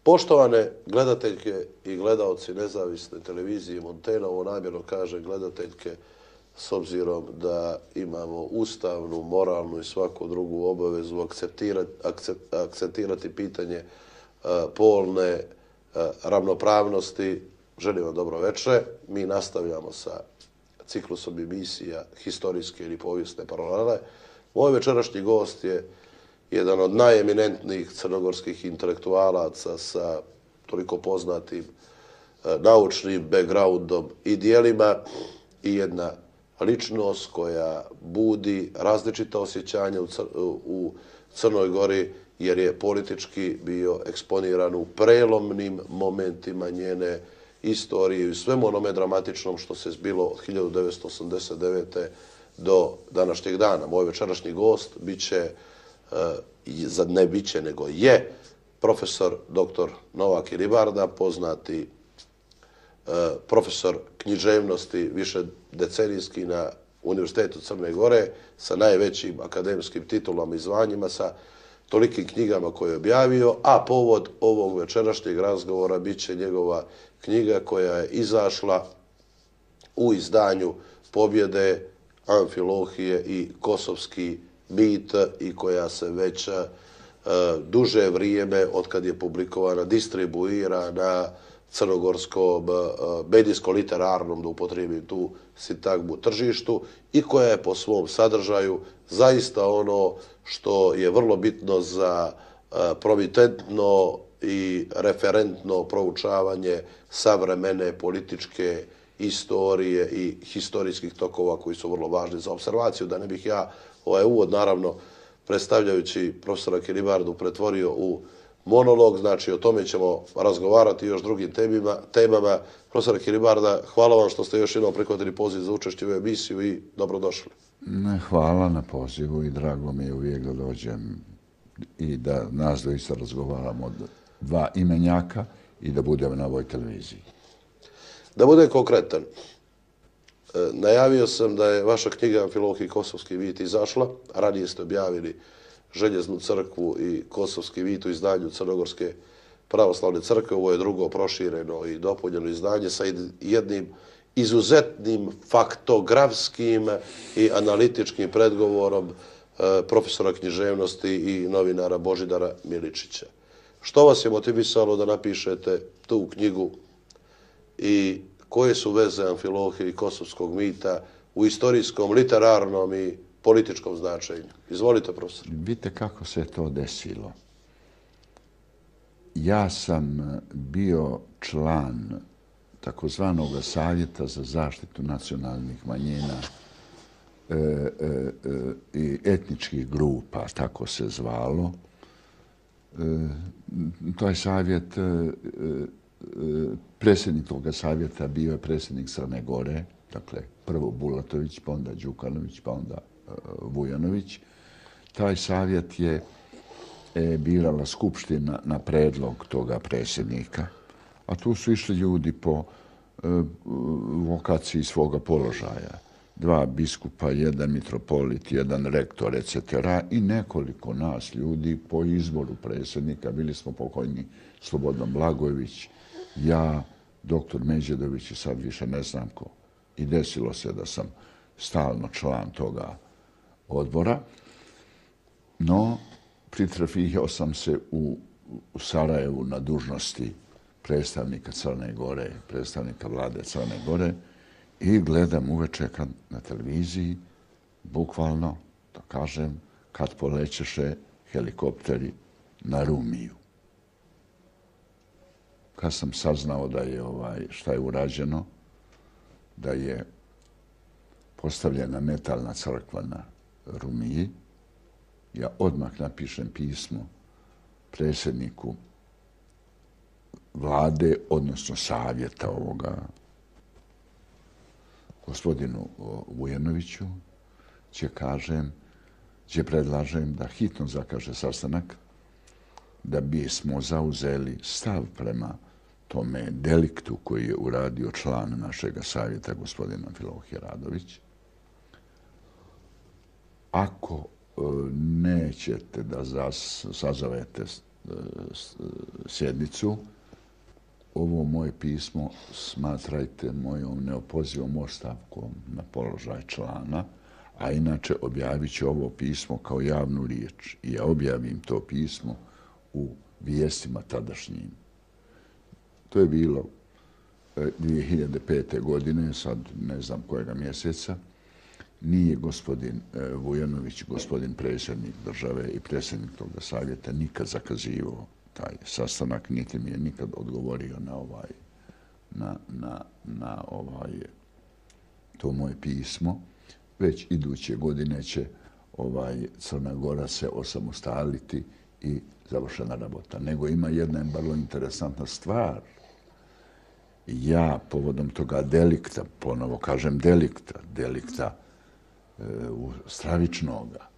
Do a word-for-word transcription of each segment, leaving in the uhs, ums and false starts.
Poštovane gledateljke i gledaoci nezavisne televizije Montena, ovo namjerno kaže gledateljke s obzirom da imamo ustavnu, moralnu i svaku drugu obavezu akceptirati, akcentirati pitanje polne ravnopravnosti. Želim vam dobro večer. Mi nastavljamo sa ciklusom emisija historijske ili povijesne paralele. Moj večerašnji gost je jedan od najeminentnijih crnogorskih intelektualaca sa toliko poznatim naučnim backgroundom i dijelima i jedna ličnost koja budi različita osjećanja u Crnoj Gori jer je politički bio eksponiran u prelomnim momentima njene istorije i u svemu onome dramatičnom što se zbilo od hiljadu devetsto osamdeset devete. do današnjeg dana. Moj večerašnji gost biće ne biće, nego je profesor doktor Novak Ilibarda, poznati profesor književnosti više decenijski na Univerzitetu Crne Gore sa najvećim akademskim titulama i zvanjima, sa tolikim knjigama koje je objavio, a povod ovog večerašnjeg razgovora biće njegova knjiga koja je izašla u izdanju Pobjede, Amfilohije i Kosovski mit i koja se već duže vrijeme, otkad je publikovana, distribuira na crnogorskom medijsko-literarnom, da upotrijebim tu sintagmu, tržištu i koja je po svom sadržaju zaista ono što je vrlo bitno za promitentno i referentno proučavanje savremene političke istorije i historijskih tokova koji su vrlo važni za observaciju. Da ne bih ja ovaj uvod, naravno, predstavljajući profesora Ilibardu, pretvorio u monolog, znači o tome ćemo razgovarati još drugim temama. Profesor Ilibarda, hvala vam što ste još jednom prihvatili poziv za učešće u emisiju i dobrodošli. Hvala na pozivu i drago mi je uvijek da dođem i da nas doista razgovaramo od dva imenjaka i da budem na ovoj televiziji. Da budem konkretan, najavio sam da je vaša knjiga Amfilohije i Kosovski mit izašla. Ranije ste objavili Željeznu crkvu i Kosovski mit u izdanju Crnogorske pravoslavne crkve. Ovo je drugo prošireno i dopunjeno izdanje sa jednim izuzetnim faktografskim i analitičkim predgovorom profesora književnosti i novinara Božidara Miličića. Što vas je motivisalo da napišete tu knjigu i koje su veze Amfilohije i Kosovskog mita u istorijskom, literarnom i političkom značenju? Izvolite, profesor. Vidite kako se to desilo. Ja sam bio član takozvanog Savjeta za zaštitu nacionalnih manjina i etničkih grupa, tako se zvalo. To je savjet, predsjednik toga savjeta bio je predsjednik Crne Gore, dakle prvo Bulatović, pa onda Đukanović, pa onda Vujanović. Taj savjet je birala skupština na predlog toga predsjednika, a tu su išli ljudi po vokaciji svoga položaja. Dva biskupa, jedan mitropolit, jedan rektor, et cetera i nekoliko nas ljudi po izboru predsjednika. Bili smo pokojni Slobodan Blagojević, ja, doktor Međedović i sad više ne znam ko. I desilo se da sam stalno član toga odbora, no pritrefio sam se u, u Sarajevu na dužnosti predstavnika Crne Gore, predstavnika vlade Crne Gore i gledam uveče kad na televiziji, bukvalno, da kažem, kad polećeše helikopteri na Rumiju. Kad sam saznao da je ovaj, šta je urađeno, da je postavljena metalna crkva na Rumiji, ja odmah napišem pismo predsjedniku vlade, odnosno savjeta ovoga, gospodinu Vujanoviću, će kažem, će predlažem da hitno zakaže sastanak, da bismo zauzeli stav prema tome deliktu koji je uradio član našeg savjeta, gospodin Amfilohije Radović, ako nećete da sazovete sjednicu, ovo moje pismo smatrajte mojom neopozivom ostavkom na položaj člana, a inače objavit ću ovo pismo kao javnu riječ. I ja objavim to pismo u vijestima tadašnjim. To je bilo dvije hiljade pete. godine, sad ne znam kojega mjeseca. Nije gospodin Vujanović, gospodin predsjednik države i predsjednik toga savjeta nikad zakazivao taj sastanak, niti mi je nikad odgovorio na ovaj, na, na, na ovaj, to moje pismo. Već iduće godine će ovaj, Crna Gora se osamostaliti i završena rabota. Nego ima jedna vrlo interesantna stvar. Ja, povodom toga delikta, ponovo kažem delikta, delikta e, stravičnoga,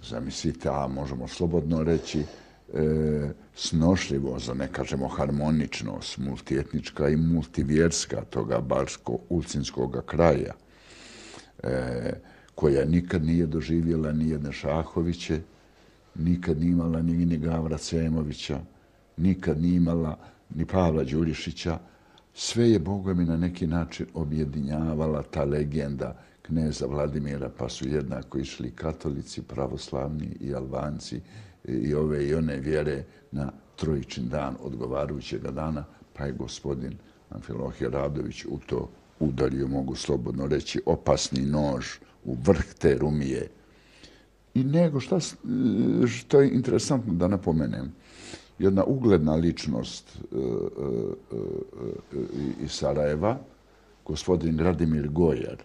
zamislite, a možemo slobodno reći, e, snošljivost, da ne kažemo harmoničnost, multietnička i multivjerska toga barsko-ulcinskoga kraja, e, koja nikad nije doživjela ni jedne Šahoviće, nikad nije imala ni, ni Gavra Cemovića, nikad nije imala ni Pavla Đurišića. Sve je, Boga mi, na neki način objedinjavala ta legenda kneza Vladimira, pa su jednako išli katolici, pravoslavni i Albanci i ove i one vjere na trojičin dan odgovarajućeg dana, pa je gospodin Amfilohije Radović u to udario, mogu slobodno reći, opasni nož u vrh te rumije. I nego šta, što je interesantno da napomenem, jedna ugledna ličnost uh, uh, uh, iz Sarajeva, gospodin Radimir Gojer,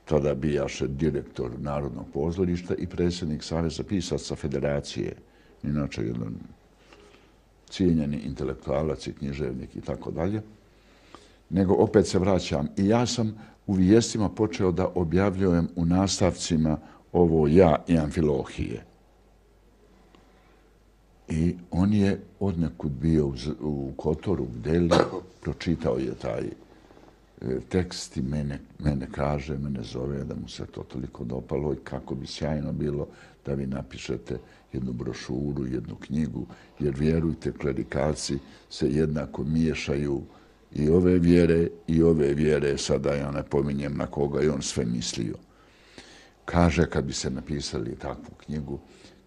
tada bijaše direktor Narodnog pozorišta i predsjednik Saveza pisaca Federacije, inače jedan cijenjeni intelektualac i književnik i tako dalje. Nego opet se vraćam. I ja sam u vijestima počeo da objavljujem u nastavcima ovo ja i Amfilohije. I on je odnekud bio u Kotoru, u Deli, pročitao je taj tekst i mene, mene kaže, mene zove da mu se to toliko dopalo i kako bi sjajno bilo da vi napišete jednu brošuru, jednu knjigu, jer vjerujte, klerikalci se jednako miješaju i ove vjere i ove vjere, sada ja ne pominjem na koga je on sve mislio. Kaže, kad bi se napisali takvu knjigu,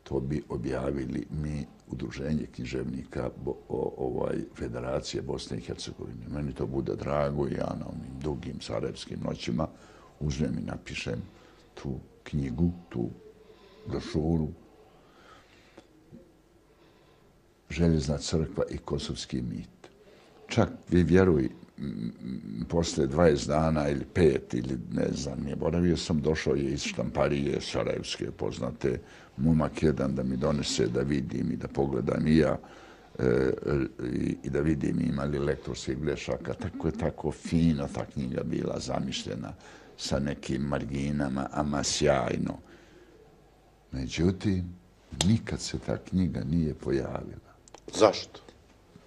to bi objavili mi, Udruženje književnika bo, o, ovaj, Federacije Bosne i Hercegovine. Meni to bude drago i ja na onim dugim sarajevskim noćima uzmem i napišem tu knjigu, tu brošuru. Željezna crkva i kosovski mit. Čak, vi vjeruj, posle dvadeset dana ili pet ili ne znam, nije boravio sam, došao je iz štamparije sarajevske poznate, momak jedan da mi donese da vidim i da pogledam i ja e, i, i da vidim ima li lektorskih grešaka. Tako je tako fino ta knjiga bila zamišljena sa nekim marginama, ama sjajno. Međutim, nikad se ta knjiga nije pojavila. Zašto?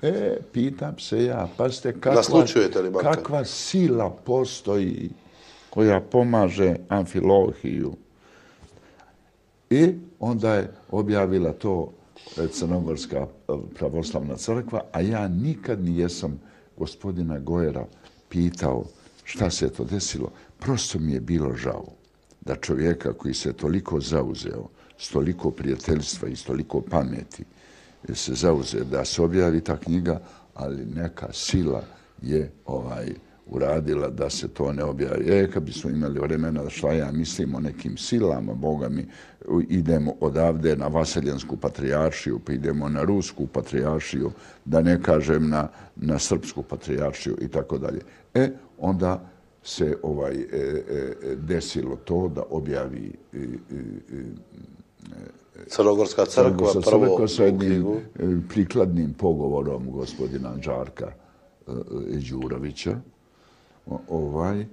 E, pitam se ja, pazite kakva, kakva sila postoji koja pomaže Amfilohiju. I onda je objavila to Crnogorska pravoslavna crkva, a ja nikad nijesam gospodina Gojera pitao šta se to desilo. Prosto mi je bilo žao da čovjeka koji se toliko zauzeo, s toliko prijateljstva i s toliko pameti, se zauze da se objavi ta knjiga, ali neka sila je ovaj uradila da se to ne objavi. E, kad bismo imali vremena da šta ja mislim o nekim silama, Boga mi, idemo odavde na Vaseljansku patrijaršiju, pa idemo na Rusku patrijaršiju, da ne kažem na, na Srpsku patrijaršiju i tako dalje. E, onda se ovaj e, e, desilo to da objavi e, e, Crnogorska crkva, prvo sa jednim prikladnim pogovorom gospodina Đarka Đurovića. Ovaj,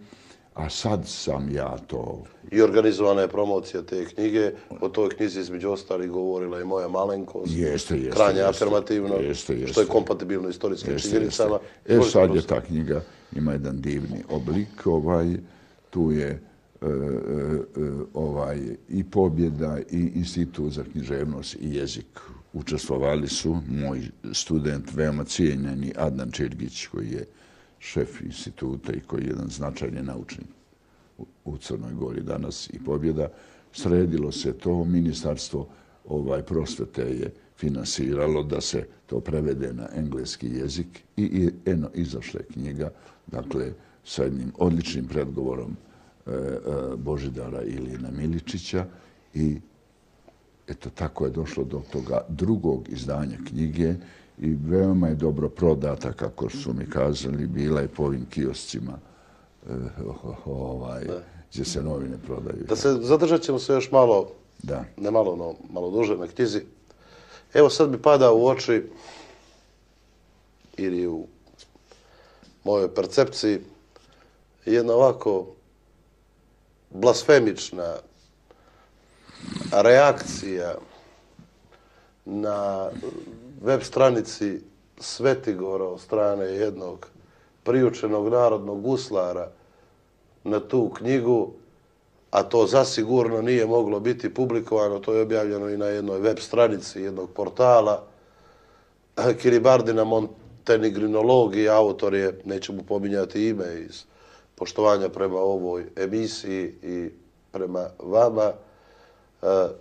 a sad sam ja to... I organizovana je promocija te knjige. O toj knjizi između ostalih govorila i moja malenkost. Jeste, jeste. Krajnje jeste, afirmativno, jeste, jeste. što je kompatibilno istorijskim činjenicama. E sad je ta knjiga, ima jedan divni oblik. Ovaj, tu je e, ovaj, i Pobjeda i Institut za književnost i jezik. Učestvovali su moj student, veoma cijenjeni Adnan Čirgić, koji je šef instituta i koji je jedan značajni naučnik u Crnoj Gori danas, i Pobjeda. Sredilo se to, ministarstvo ovaj, prosvete je finansiralo da se to prevede na engleski jezik i, i eno, izašla je knjiga, dakle, sa jednim odličnim predgovorom e, e, Božidara Ilijana Miličića, i eto, tako je došlo do toga drugog izdanja knjige i veoma je dobro prodata, kako su mi kazali, bila je po ovim kioscima e, ovaj, gdje se novine prodaju. Da se zadržat ćemo se još malo, da. ne malo, no, malo duže na knjizi. Evo sad mi pada u oči ili u mojoj percepciji jedna ovako blasfemična reakcija na web stranici Svetigora od strane jednog priučenog narodnog guslara na tu knjigu, a to zasigurno nije moglo biti publikovano, to je objavljeno i na jednoj web stranici jednog portala. Kiribardina Montenegrinologija, autor je, nećemo pominjati ime iz poštovanja prema ovoj emisiji i prema vama,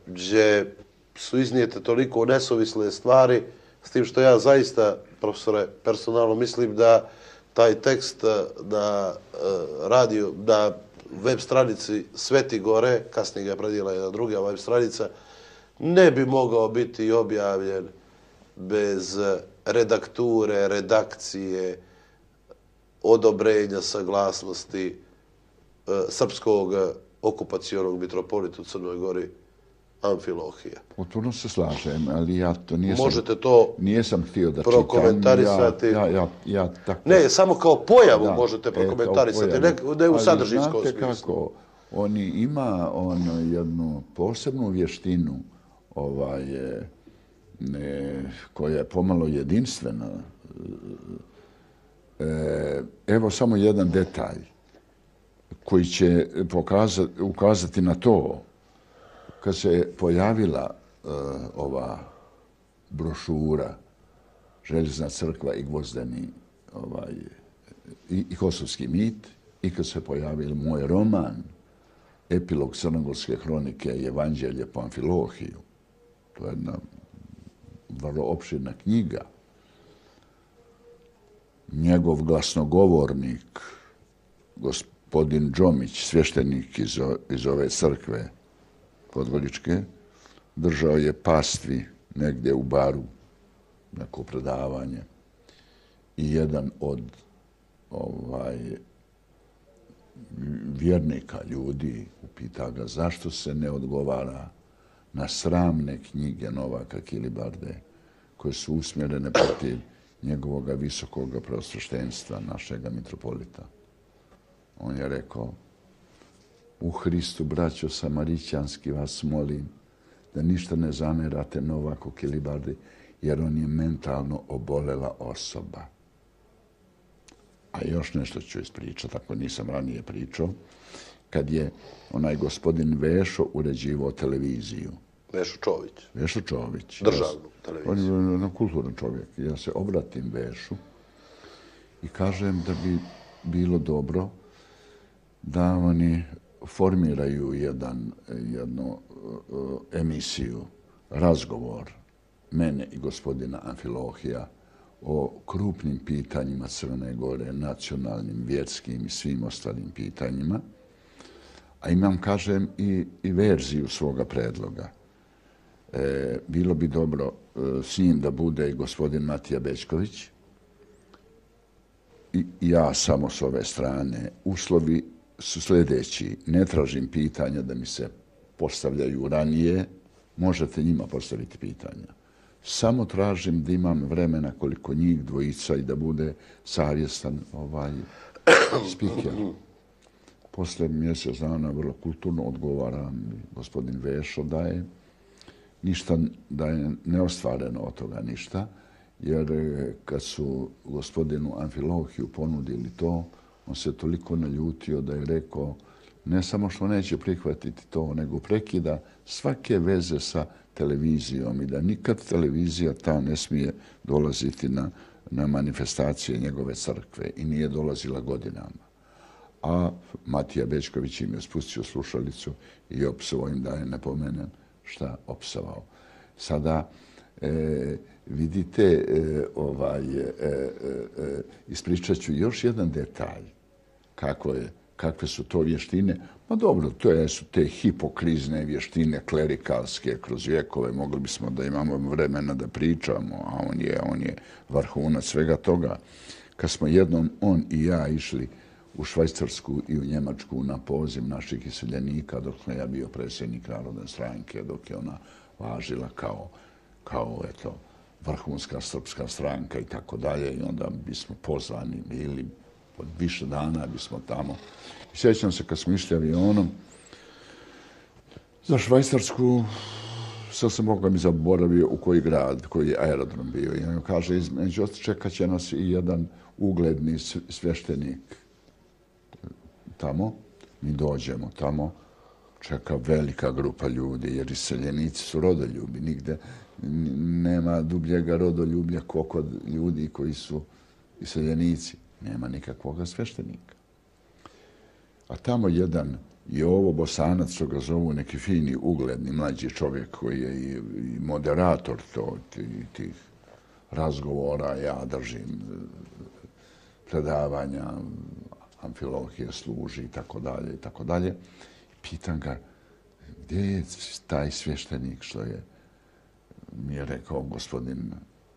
gdje su iznijete toliko nesuvisle stvari, s tim što ja zaista, profesore, personalno mislim da taj tekst na radio, na web stranici Svetigore, kasnije ga je predijela jedna druga web stranica, ne bi mogao biti objavljen bez redakture, redakcije, odobrenja, saglasnosti srpskog okupacionog mitropolita u Crnoj Gori Amfilohija. Potpuno se slažem, ali ja to nijesam... Možete to nijesam htio da prokomentarisati. Ja, ja, ja, tako... Ne, samo kao pojavu da, možete e, prokomentarisati, pojavu. ne, ne u sadržinskom smislu. smislu. Znate kako, oni ima ono jednu posebnu vještinu ovaj, ne, koja je pomalo jedinstvena. E, evo samo jedan detalj koji će pokazati, ukazati na to. Kad se pojavila uh, ova brošura Željezna crkva i Gvozdeni ovaj, i, i Kosovski mit, i kad se pojavil moj roman Epilog crnogorske hronike i Evanđelje po Amfilohiju, to je jedna vrlo opširna knjiga, njegov glasnogovornik, gospodin Džomić, svještenik iz, iz ove crkve Podgoričke, držao je pastvi negdje u baru, neko predavanje, i jedan od ovaj, vjernika ljudi upita ga zašto se ne odgovara na sramne knjige Novaka Kilibarde koje su usmjerene protiv njegovog visokog preosveštenstva, našega mitropolita. On je rekao: u Hristu, braćo Samarićanski, vas molim da ništa ne zamerate Novaku Kilibardi, jer on je mentalno obolela osoba. A još nešto ću ispričati, ako nisam ranije pričao, kad je onaj gospodin Vešo uređivao televiziju. Vešo Čović. Vešo Čović. Državnu televiziju. On je kulturan čovjek. Ja se obratim Vešu i kažem da bi bilo dobro da oni formiraju jedan, jednu uh, emisiju, razgovor mene i gospodina Amfilohija o krupnim pitanjima Crne Gore, nacionalnim, vjerskim i svim ostalim pitanjima. A imam, kažem, i, i verziju svoga predloga. E, bilo bi dobro e, s njim da bude i gospodin Matija Bećković i ja samo s ove strane. Uslovi su sljedeći. Ne tražim pitanja da mi se postavljaju ranije. Možete njima postaviti pitanja. Samo tražim da imam vremena koliko njih dvojica i da bude savjestan ovaj spiker. Posle mjesec dana vrlo kulturno odgovaram, gospodin Vešo da je ništa, da je neostvareno od toga ništa, jer kad su gospodinu Amfilohiju ponudili to, on se toliko naljutio da je rekao: ne samo što neće prihvatiti to, nego prekida svake veze sa televizijom i da nikad televizija ta ne smije dolaziti na, na manifestacije njegove crkve i nije dolazila godinama. A Matija Bećković im je spustio slušalicu i opsovao im, da je ne pomenem šta opsovao. Sada e, vidite, e, ovaj, e, e, e, ispričat ću još jedan detalj. Kako je, kakve su to vještine? Pa dobro, to su te hipokrizne vještine klerikalske kroz vjekove. Mogli bismo da imamo vremena da pričamo, a on je, on je vrhunac svega toga. Kad smo jednom on i ja išli u Švajcarsku i u Njemačku na poziv naših iseljenika, dok sam ja bio predsjednik Narodne stranke, dok je ona važila kao, kao eto, vrhunska srpska stranka i tako dalje. I onda bismo pozvani bili, od više dana bismo tamo. I sjećam se kad smo išli avionom za Švajcarsku, sad sam Boga mi zaboravio u koji grad, koji je aerodrom bio. I on kaže, između čekat će nas i jedan ugledni svještenik tamo. Mi dođemo tamo, čeka velika grupa ljudi, jer iseljenici su rodoljubi. Nigde nema dubljega rodoljublja kao kod ljudi koji su iseljenici. Nema nikakvoga svještenika. A tamo jedan Jovo Bosanac, što ga zovu neki fini, ugledni, mlađi čovjek koji je i moderator to, tih razgovora, ja držim predavanja, amfilohije služi i tako dalje i tako dalje. Pitam ga, gdje je taj svještenik što je, mi je rekao gospodin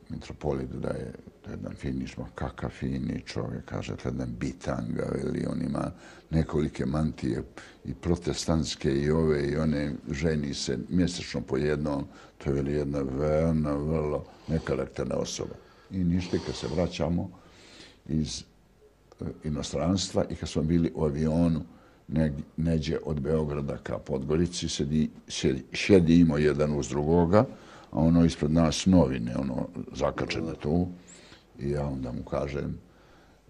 mitropolit da je jedan finišma, kakav fini čovjek, kaže, jedan bitanga, ili on ima nekolike mantije i protestantske i ove i one, ženi se mjesečno po jednom, to je jedna veoma, vrlo nekarakterna osoba. I ništa, kad se vraćamo iz inostranstva i kad smo bili u avionu neđe od Beograda ka Podgorici, sedi, sedi, sjedimo jedan uz drugoga, a ono ispred nas novine, ono zakačene tu. I ja onda mu kažem,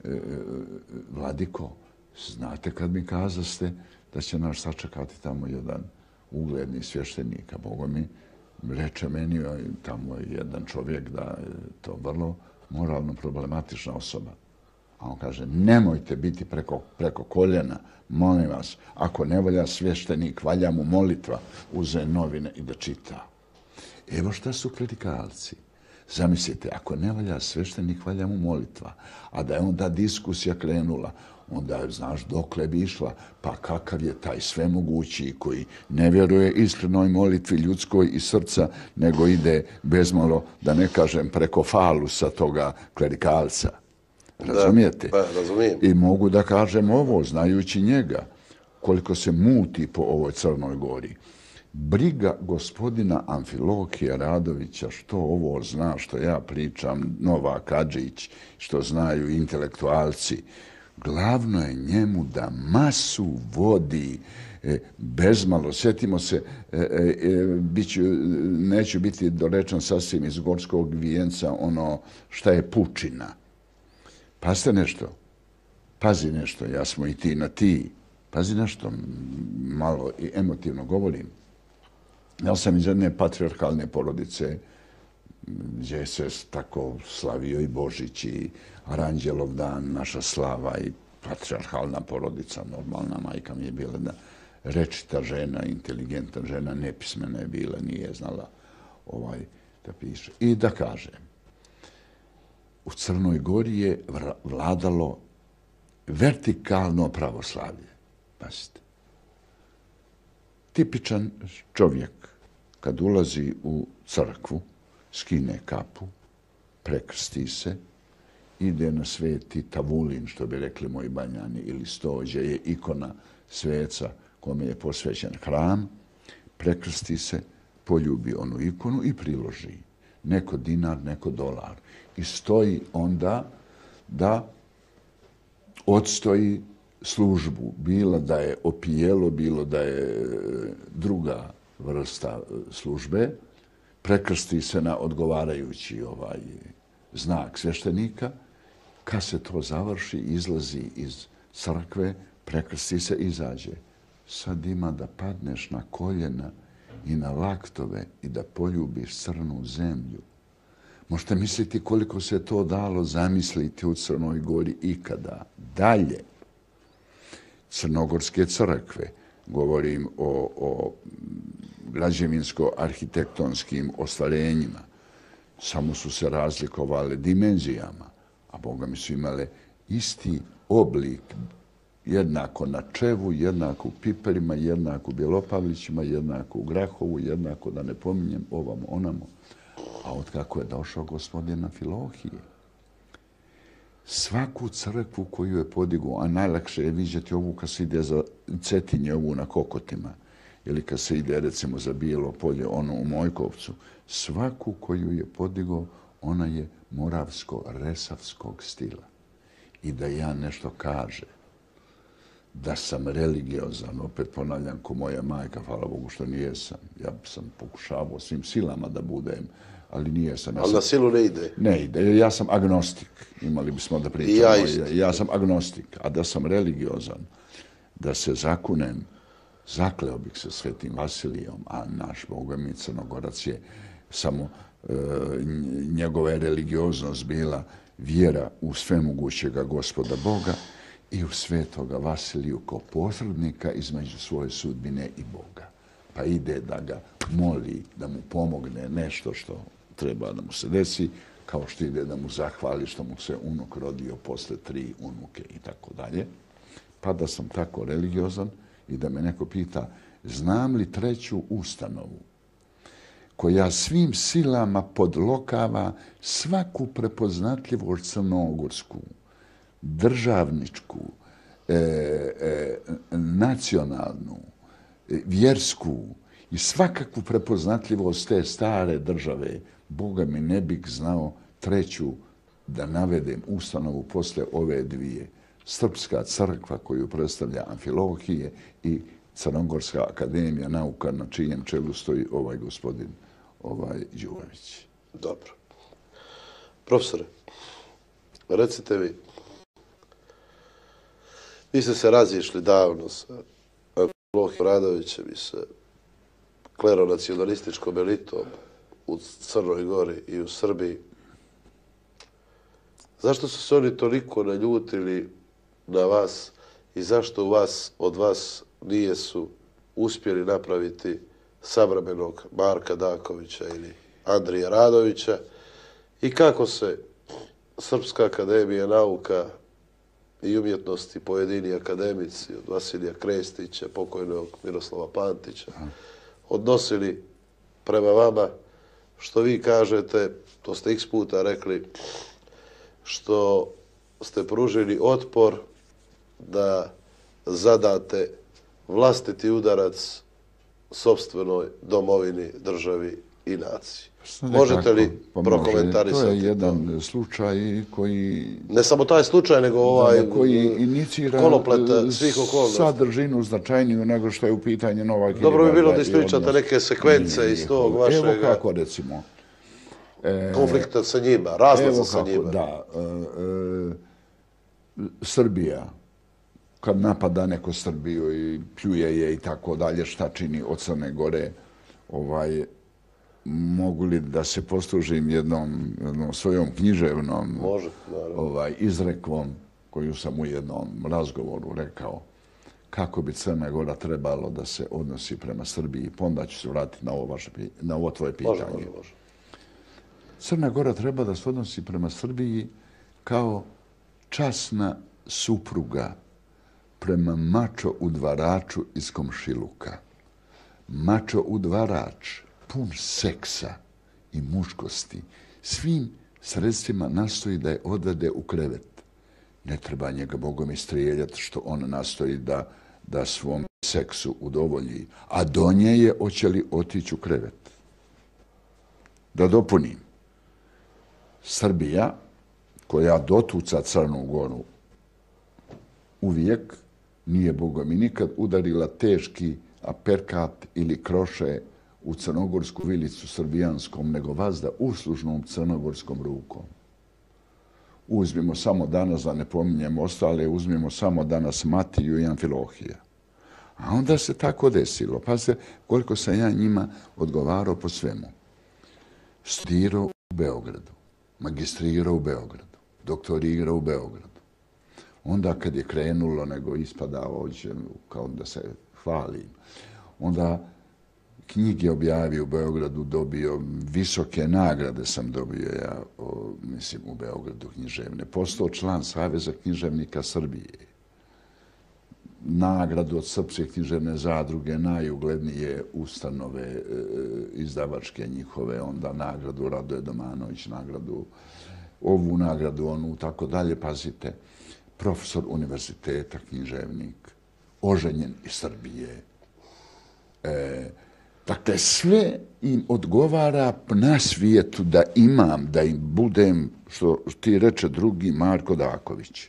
e, Vladiko, znate kad mi kazaste da će nas sačekati tamo jedan ugledni svještenik, a Boga mi reče meni, tamo je jedan čovjek da je to vrlo moralno problematična osoba. A on kaže, nemojte biti preko, preko koljena, molim vas, ako ne valja svještenik, valja mu molitva, uze novine i da čita. Evo šta su klerikalci. Zamislite, ako ne valja svještenik, valja mu molitva. A da je onda diskusija krenula, onda, znaš, dokle bi išla, pa kakav je taj svemogući koji ne vjeruje iskrenoj molitvi ljudskoj i srca, nego ide bezmalo, da ne kažem, preko falusa toga klerikalca. Razumijete? Da, pa, razumijem. I mogu da kažem ovo, znajući njega, koliko se muti po ovoj Crnoj Gori. Briga gospodina Amfilohija Radovića, što ovo zna, što ja pričam, Novak Adžić, što znaju intelektualci, glavno je njemu da masu vodi e, bezmalo. Sjetimo se, e, e, biću, neću biti dorečan sasvim iz Gorskog vijenca, ono šta je pučina. Pazite nešto, pazi nešto, ja smo i ti na ti, pazi nešto, malo i emotivno govorim. Ja sam iz jedne patrijarhalne porodice, gdje se tako slavio i Božić i Aranđelov dan, naša slava i patrijarhalna porodica, normalna majka mi je bila da rečita žena, inteligentna žena, nepismena je bila, nije znala ovaj, da piše. I da kažem, u Crnoj Gori je vladalo vertikalno pravoslavlje. Pazite. Tipičan čovjek kad ulazi u crkvu, skine kapu, prekrsti se, ide na sveti tavulin, što bi rekli moji Banjani, ili stođe je ikona sveca kome je posvećen hram, prekrsti se, poljubi onu ikonu i priloži. Neko dinar, neko dolar. I stoji onda da odstoji službu, bilo da je opijelo, bilo da je druga vrsta službe, prekrsti se na odgovarajući ovaj znak svještenika. Kad se to završi, izlazi iz crkve, prekrsti se i izađe. sad ima da padneš na koljena i na laktove i da poljubiš crnu zemlju. Možete misliti koliko se to dalo zamisliti u Crnoj Gori ikada. Dalje, crnogorske crkve, govorim o, o građevinsko-arhitektonskim ostvarenjima, samo su se razlikovale dimenzijama, a Boga mi su imale isti oblik, jednako na Čevu, jednako u Piperima, jednako u Bjelopavlićima, jednako u Grahovu, jednako da ne pominjem ovamo onamo. A od kako je došao gospodin Amfilohije, svaku crkvu koju je podigao, a najlakše je vidjeti ovu kad se ide za Cetinje, ovu na Kokotima, ili kad se ide recimo za Bijelo polje, ono u Mojkovcu, svaku koju je podigao, ona je moravsko-resavskog stila. I da ja nešto kaže, da sam religiozan, opet ponavljam ko moja majka, hvala Bogu što nijesam. Ja sam pokušavao svim silama da budem, ali nijesam. Ja ali sam, na silu ne ide? Ne ide, ja sam agnostik. Imali bismo da pričamo. I ja isto. Ja, ja sam agnostik, a da sam religiozan, da se zakunem, zakleo bih se Svetim Vasilijom, a naš Boga mi Crnogorac je samo e, njegova je religioznost bila vjera u svemogućega Gospoda Boga i u Svetoga Vasiliju kao posrednika između svoje sudbine i Boga. Pa ide da ga moli, da mu pomogne nešto što treba da mu se desi, kao što ide da mu zahvali što mu se unuk rodio posle tri unuke i tako dalje. Pa da sam tako religiozan i da me neko pita, znam li treću ustanovu koja svim silama podlokava svaku prepoznatljivost crnogorsku, državničku, e, e, nacionalnu, e, vjersku i svakakvu prepoznatljivost te stare države, Boga mi ne bih znao treću da navedem ustanovu posle ove dvije. Srpska crkva koju predstavlja Amfilohije i Crnogorska akademija nauka na čijem čelu stoji ovaj gospodin ovaj Đurović. Dobro. Profesore, recite mi, vi ste se razišli davno sa Amfilohijom Radovićem i sa kleronacionalističkom elitom u Crnoj Gori i u Srbiji. Zašto su se oni toliko naljutili na vas i zašto u vas, od vas nije su uspjeli napraviti savremenog Marka Dakovića ili Andrija Radovića i kako se Srpska akademija nauka i umjetnosti, pojedini akademici od Vasilija Krestića, pokojnog Miroslava Pantića, odnosili prema vama, što vi kažete, to ste x puta rekli, što ste pružili otpor da zadate vlastiti udarac sopstvenoj domovini, državi i naciji. Možete li prokomentarisati? To je jedan slučaj koji... Ne samo taj slučaj, nego ovaj koji inicira svih okolnosti. Sadržinu značajniju nego što je u pitanju Nova Kilibarda. Dobro bi bilo da ispričate neke sekvence iz tog vašeg... Evo kako recimo. Konflikta sa njima, razlaza sa njima. Da. Srbija, kad napada neko Srbiju i pljuje je i tako dalje, šta čini od Crne Gore, ovaj, mogu li da se poslužim jednom, jednom svojom književnom Može, ovaj, izrekvom koju sam u jednom razgovoru rekao kako bi Crna Gora trebalo da se odnosi prema Srbiji. Pa onda ću se vratiti na ovo, vaše, na ovo tvoje pitanje. Može, može, može. Crna Gora treba da se odnosi prema Srbiji kao časna supruga prema mačo udvaraču iz komšiluka. Mačo udvarač pun seksa i muškosti, svim sredstvima nastoji da je odvede u krevet. Ne treba njega Bogom istrijeljati što on nastoji da, da svom seksu udovolji, a do nje je hoće li otići u krevet. Da dopunim, Srbija, koja dotuca Crnu Goru, uvijek nije Bogom i nikad udarila teški aperkat ili kroše u crnogorsku vilicu srbijanskom, nego vazda uslužnom crnogorskom rukom. Uzmimo samo danas, da ne pominjemo ostale, uzmimo samo danas Matiju i Amfilohija. A onda se tako desilo. Pa se, koliko sam ja njima odgovarao po svemu. Studirao u Beogradu, magistrirao u Beogradu, doktorirao u Beogradu. Onda kad je krenulo, nego ispadao ovdje, kao da se hvalim, onda knjige objavio u Beogradu, dobio visoke nagrade sam dobio ja, o, mislim, u Beogradu književne. Postao član Saveza književnika Srbije. Nagradu od Srpske književne zadruge, najuglednije ustanove e, izdavačke njihove, onda nagradu Radoje Domanović, nagradu, ovu nagradu, onu, tako dalje, pazite. Profesor univerziteta, književnik, oženjen iz Srbije. E, dakle, sve im odgovara na svijetu da imam, da im budem, što ti reče drugi, Marko Daković.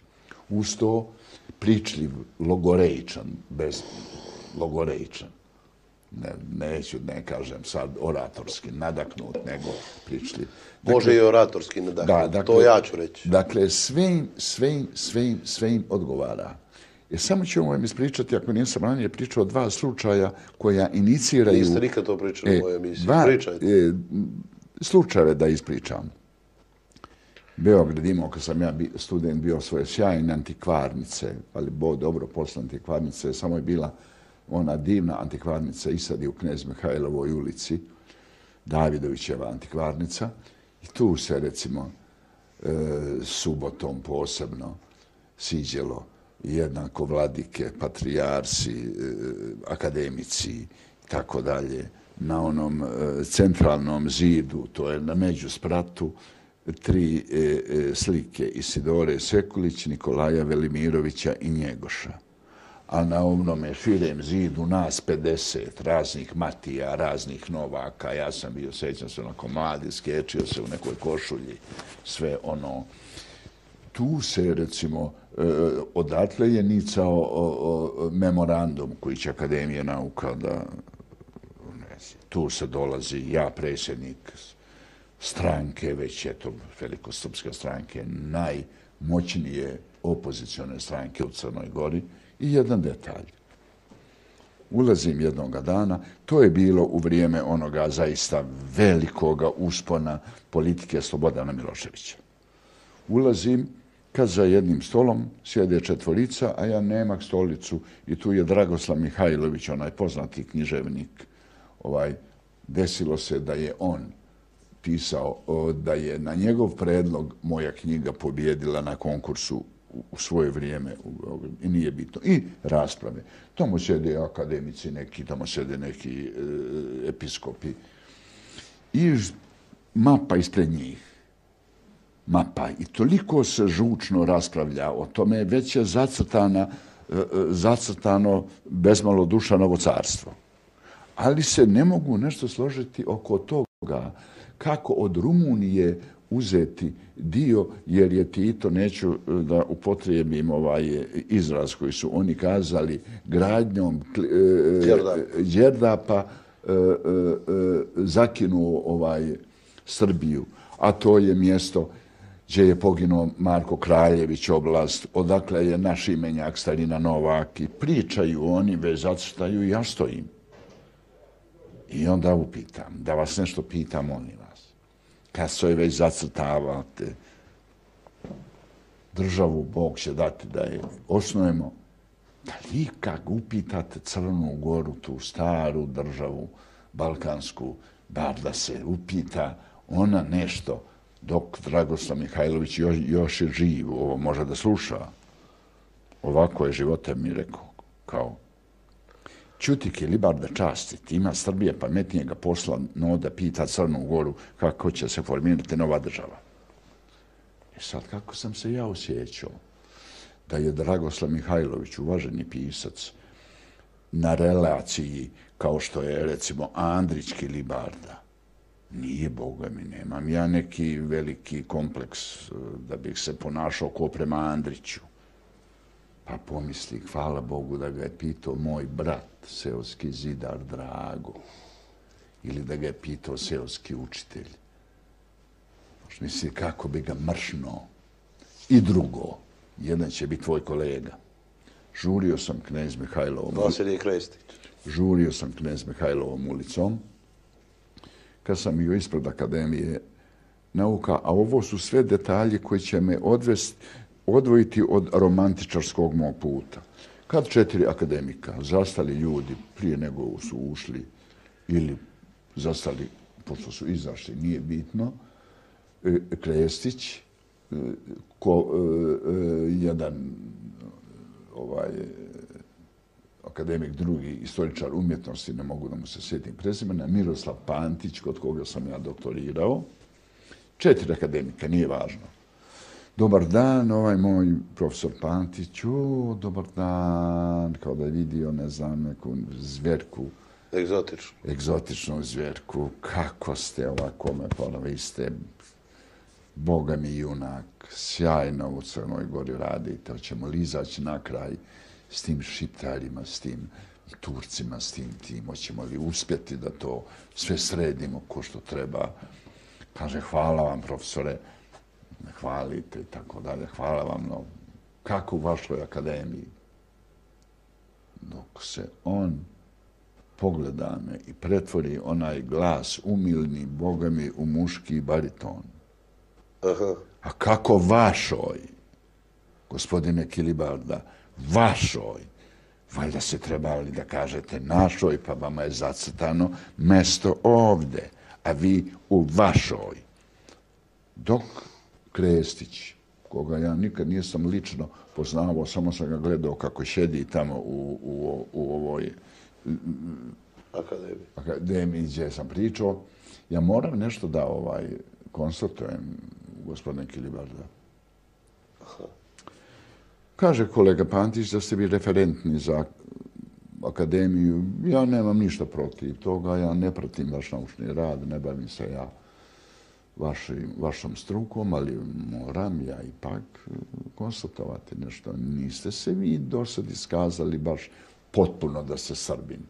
Uz to pričljiv, logorejčan, bez logorejčan. Ne, neću, ne kažem sad oratorski nadaknut, nego pričljiv. Dakle, može i oratorski nadaknut, da, dakle, to ja ću reći. Dakle, sve im, sve im, sve im, sve im odgovara. Jer samo ću vam ispričati, ako nisam ranije pričao, dva slučaja koja iniciraju... Niste nikad to pričali e, u mojoj emisiji. Dva, Pričajte. E, slučajeve da ispričam. Beograd imao, kad sam ja bi, student, bio svoje sjajne antikvarnice, ali bo dobro posle antikvarnice, samo je bila ona divna antikvarnica i sad je u Knez Mihajlovoj ulici, Davidovićeva antikvarnica. I tu se, recimo, e, subotom posebno siđelo jednako vladike, patrijarsi, e, akademici i tako dalje. Na onom e, centralnom zidu, to je na međuspratu, tri e, e, slike Isidore Sekulić, Nikolaja Velimirovića i Njegoša. A na onome širem zidu nas pedeset, raznih Matija, raznih Novaka. Ja sam bio, sećam se, onako mladi, skečio se u nekoj košulji, sve ono. Tu se, recimo, e, odatle je nicao o, o, memorandum koji će Akademija nauka da... Ne znam, tu se dolazi ja, predsjednik stranke, već je to velikosrpske stranke, najmoćnije opozicione stranke u Crnoj Gori. I jedan detalj. Ulazim jednoga dana, to je bilo u vrijeme onoga zaista velikoga uspona politike Slobodana Miloševića. Ulazim kad za jednim stolom sjede četvorica, a ja nemam stolicu i tu je Dragoslav Mihajlović, onaj poznati književnik. Ovaj, desilo se da je on pisao, da je na njegov predlog moja knjiga pobjedila na konkursu u svoje vrijeme i nije bitno. I rasprave. Tamo sjede akademici neki, tamo sjede neki e, episkopi. I mapa ispred njih. Mapa. I toliko se žučno raspravlja o tome, već je zacrtana, e, zacrtano bezmalo Dušanovo carstvo. Ali se ne mogu nešto složiti oko toga kako od Rumunije uzeti dio, jer je Tito, neću da upotrijebim ovaj izraz koji su oni kazali, gradnjom e, Đerdapa e, e, zakinuo ovaj Srbiju. A to je mjesto gdje je poginuo Marko Kraljević, oblast, odakle je naš imenjak Starina Novak. I pričaju oni, već zacrtaju i ja stojim. I onda upitam, da vas nešto pitam, molim vas. Kad se već zacrtavate, državu Bog će dati da je osnujemo, da vi kad upitate Crnu Goru, tu staru državu, balkansku, bar da se upita ona nešto, dok Dragoslav Mihajlović još, još je živ, ovo može da sluša. Ovako je života mi rekao, kao Ćutik je libar da častiti, ima Srbije pametnijega posla, no da pita Crnu Goru kako će se formirati nova država. I sad kako sam se ja osjećao da je Dragoslav Mihajlović, uvaženi pisac, na relaciji kao što je recimo Andrićki Libarda. Nije, Boga mi, nemam ja neki veliki kompleks da bih se ponašao ko prema Andriću. Pa pomisli, hvala Bogu da ga je pitao moj brat, seoski zidar Drago, ili da ga je pitao seoski učitelj. Misli, kako bi ga mršno. I drugo, jedan će biti tvoj kolega. žurio sam knez Mihajlovom. Vasilij Krestić. Žurio sam knez Mihajlovom ulicom. Kad sam bio ispred Akademije nauka, a ovo su sve detalji koji će me odvesti, odvojiti od romantičarskog mog puta. Kad četiri akademika, zastali ljudi prije nego su ušli ili zastali, pošto su izašli, nije bitno, Krestić, ko, jedan ovaj, akademik drugi, istoričar umjetnosti, ne mogu da mu se sjetim prezimena, Miroslav Pantić, kod koga sam ja doktorirao. Četiri akademika, nije važno. Dobar dan, ovaj moj profesor Pantić, o, dobar dan, kao da je vidio, ne znam, neku zvjerku. Egzotičnu. Egzotičnu zvjerku. Kako ste ovako, me hvala, vi ste Boga mi junak, sjajno u Crnoj Gori radite, hoćemo li izaći na kraj s tim Šiptarima, s tim Turcima, s tim tim, hoćemo li uspjeti da to sve sredimo ko što treba. Kaže, hvala vam, profesore, ne hvalite i tako dalje, hvala vam, no, kako u vašoj akademiji. Dok se on pogleda me i pretvori onaj glas umilni, Boga mi, u muški bariton. Aha. A kako vašoj, gospodine Kilibarda, vašoj, valjda se trebali da kažete našoj, pa vama je zacrtano mesto ovde, a vi u vašoj. Dok Krestić, koga ja nikad nisam lično poznavao, samo sam ga gledao kako šedi tamo u, u, u ovoj akademiji. akademiji gdje sam pričao, ja moram nešto da ovaj konstatujem, gospodine Kilibarda. Aha. Kaže kolega Pantić da ste vi referentni za akademiju. Ja nemam ništa protiv toga, ja ne pratim vaš naučni rad, ne bavim se ja vašim, vašom strukom, ali moram ja ipak konstatovati nešto. Niste se vi do sad iskazali baš potpuno da ste Srbin.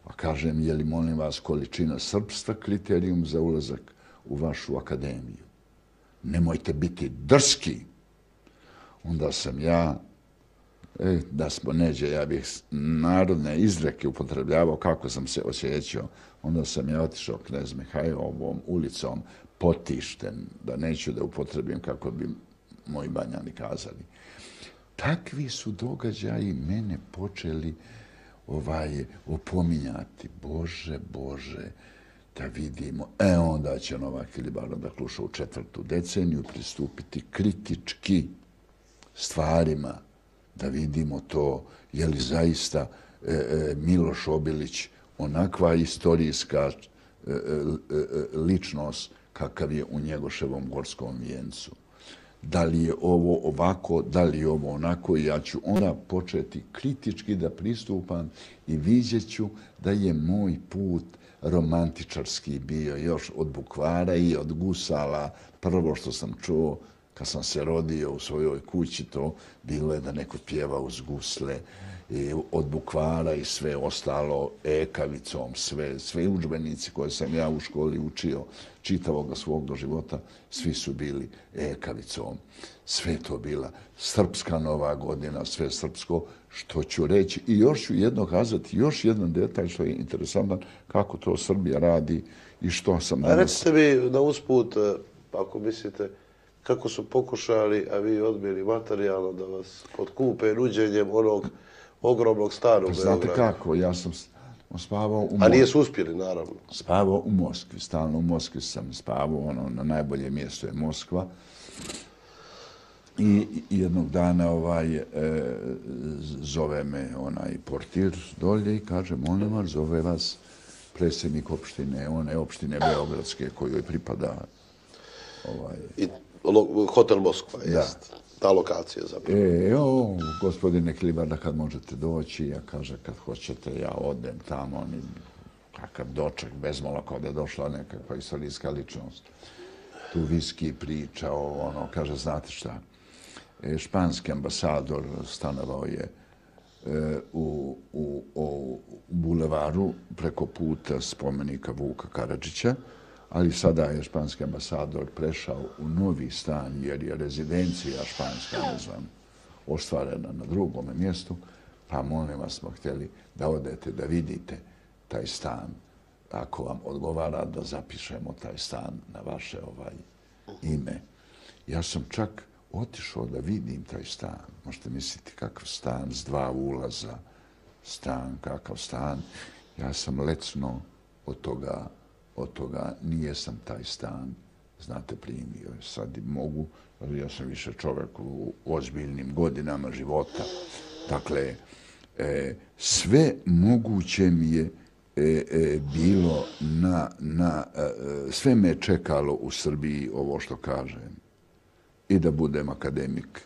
A kažem, je li molim vas količina srpstva kriterijum za ulazak u vašu akademiju? Nemojte biti drski. Onda sam ja, e, da smo neđe, ja bih narodne izreke upotrebljavao kako sam se osjećao. Onda sam ja otišao knez Mihajlovom ulicom potišten, da neću da upotrebim kako bi moji Banjani kazali. Takvi su događaji mene počeli ovaj, opominjati. Bože, Bože, da vidimo. E, onda će Novak Kilibarda da kluša u četvrtu deceniju pristupiti kritički stvarima, da vidimo to, je li zaista e, e, Miloš Obilić onakva istorijska e, e, ličnost kakav je u Njegoševom Gorskom vijencu. Da li je ovo ovako, da li je ovo onako, i ja ću onda početi kritički da pristupam i vidjet ću da je moj put romantičarski bio još od bukvara i od gusala. Prvo što sam čuo kad sam se rodio u svojoj kući, to bilo je da neko pjeva uz gusle, i od bukvara i sve ostalo ekavicom, sve, sve udžbenici koje sam ja u školi učio čitavog svog do života, svi su bili ekavicom. Sve to bila srpska nova godina, sve srpsko, što ću reći. I još ću jedno kazati, još jedan detalj što je interesantan, kako to Srbija radi i što sam danas... A recite mi na usput, ako mislite, kako su pokušali, a vi odbili materijalno da vas potkupe nuđenjem onog ogromnog starog Beograda. Znate kako, ja sam spavao u Moskvi. A nije su uspjeli, naravno. Spavao u Moskvi, stalno u Moskvi sam spavao, ono, na najbolje mjesto je Moskva. I jednog dana ovaj, e, zove me onaj portir dolje i kaže, molim vas, zove vas predsjednik opštine, one opštine Beogradske kojoj pripada ovaj... I hotel Moskva, jest. Ta lokacija zapravo. E, o, gospodine Kilibarda, kad možete doći, ja kaže, kad hoćete, ja odem tamo, oni, kakav doček, bezmalo kao da je došla nekakva istorijska ličnost. Tu viski pričao, ono, kaže, znate šta, e, španski ambasador stanovao je e, u, u, u bulevaru preko puta spomenika Vuka Karadžića, ali sada je španski ambasador prešao u novi stan, jer je rezidencija španska, ne znam, ostvarena na drugom mjestu, pa molim vas smo htjeli da odete, da vidite taj stan. Ako vam odgovara da zapišemo taj stan na vaše ovaj ime. Ja sam čak otišao da vidim taj stan. Možete misliti kakav stan s dva ulaza, stan, kakav stan. Ja sam lecno od toga, od toga nije sam taj stan, znate, primio. Sad mogu, ali ja sam više čovjek u ozbiljnim godinama života. Dakle, e, sve moguće mi je e, e, bilo na, na e, sve me je čekalo u Srbiji ovo što kažem. I da budem akademik.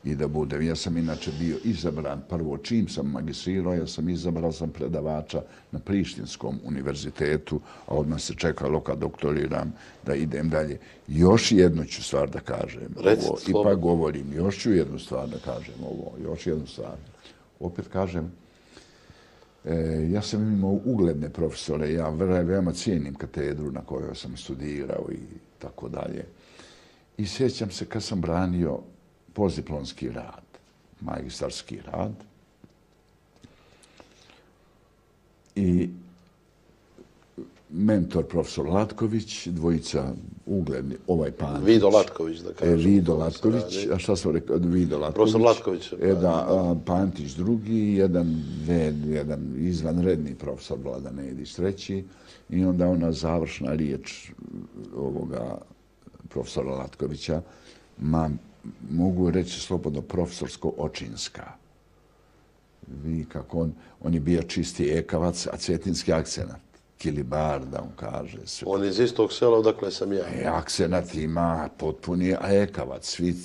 I da budem. Ja sam inače bio izabran, prvo čim sam magistrirao, ja sam izabrao sam predavača na Prištinskom univerzitetu, a odmah se čekalo kad doktoriram da idem dalje. Još jednu ću stvar da kažem. Ovo, ipak govorim, još ću jednu stvar da kažem ovo, još jednu stvar. Opet kažem, e, ja sam imao ugledne profesore, ja veoma cijenim katedru na kojoj sam studirao i tako dalje. I sjećam se kad sam branio postdiplomski rad, magistarski rad. I mentor profesor Latković, dvojica ugledni, ovaj Pantić. Vido Latković, da kažem. E, Vido Latković, a šta sam rekao? Vido Latković. Profesor Latković. E, da, a, Pantić drugi, jedan, jedan izvanredni profesor Vladan Edić treći. I onda ona završna riječ ovoga profesora Latkovića, ma, mogu reći slobodno profesorsko-očinska. Vi kako on, on je bio čisti ekavac, a cetinski akcenat. Kilibarda, on kaže. Sve. On iz istog sela, odakle sam ja. E, akcenat ima potpuni, a ekavac, svi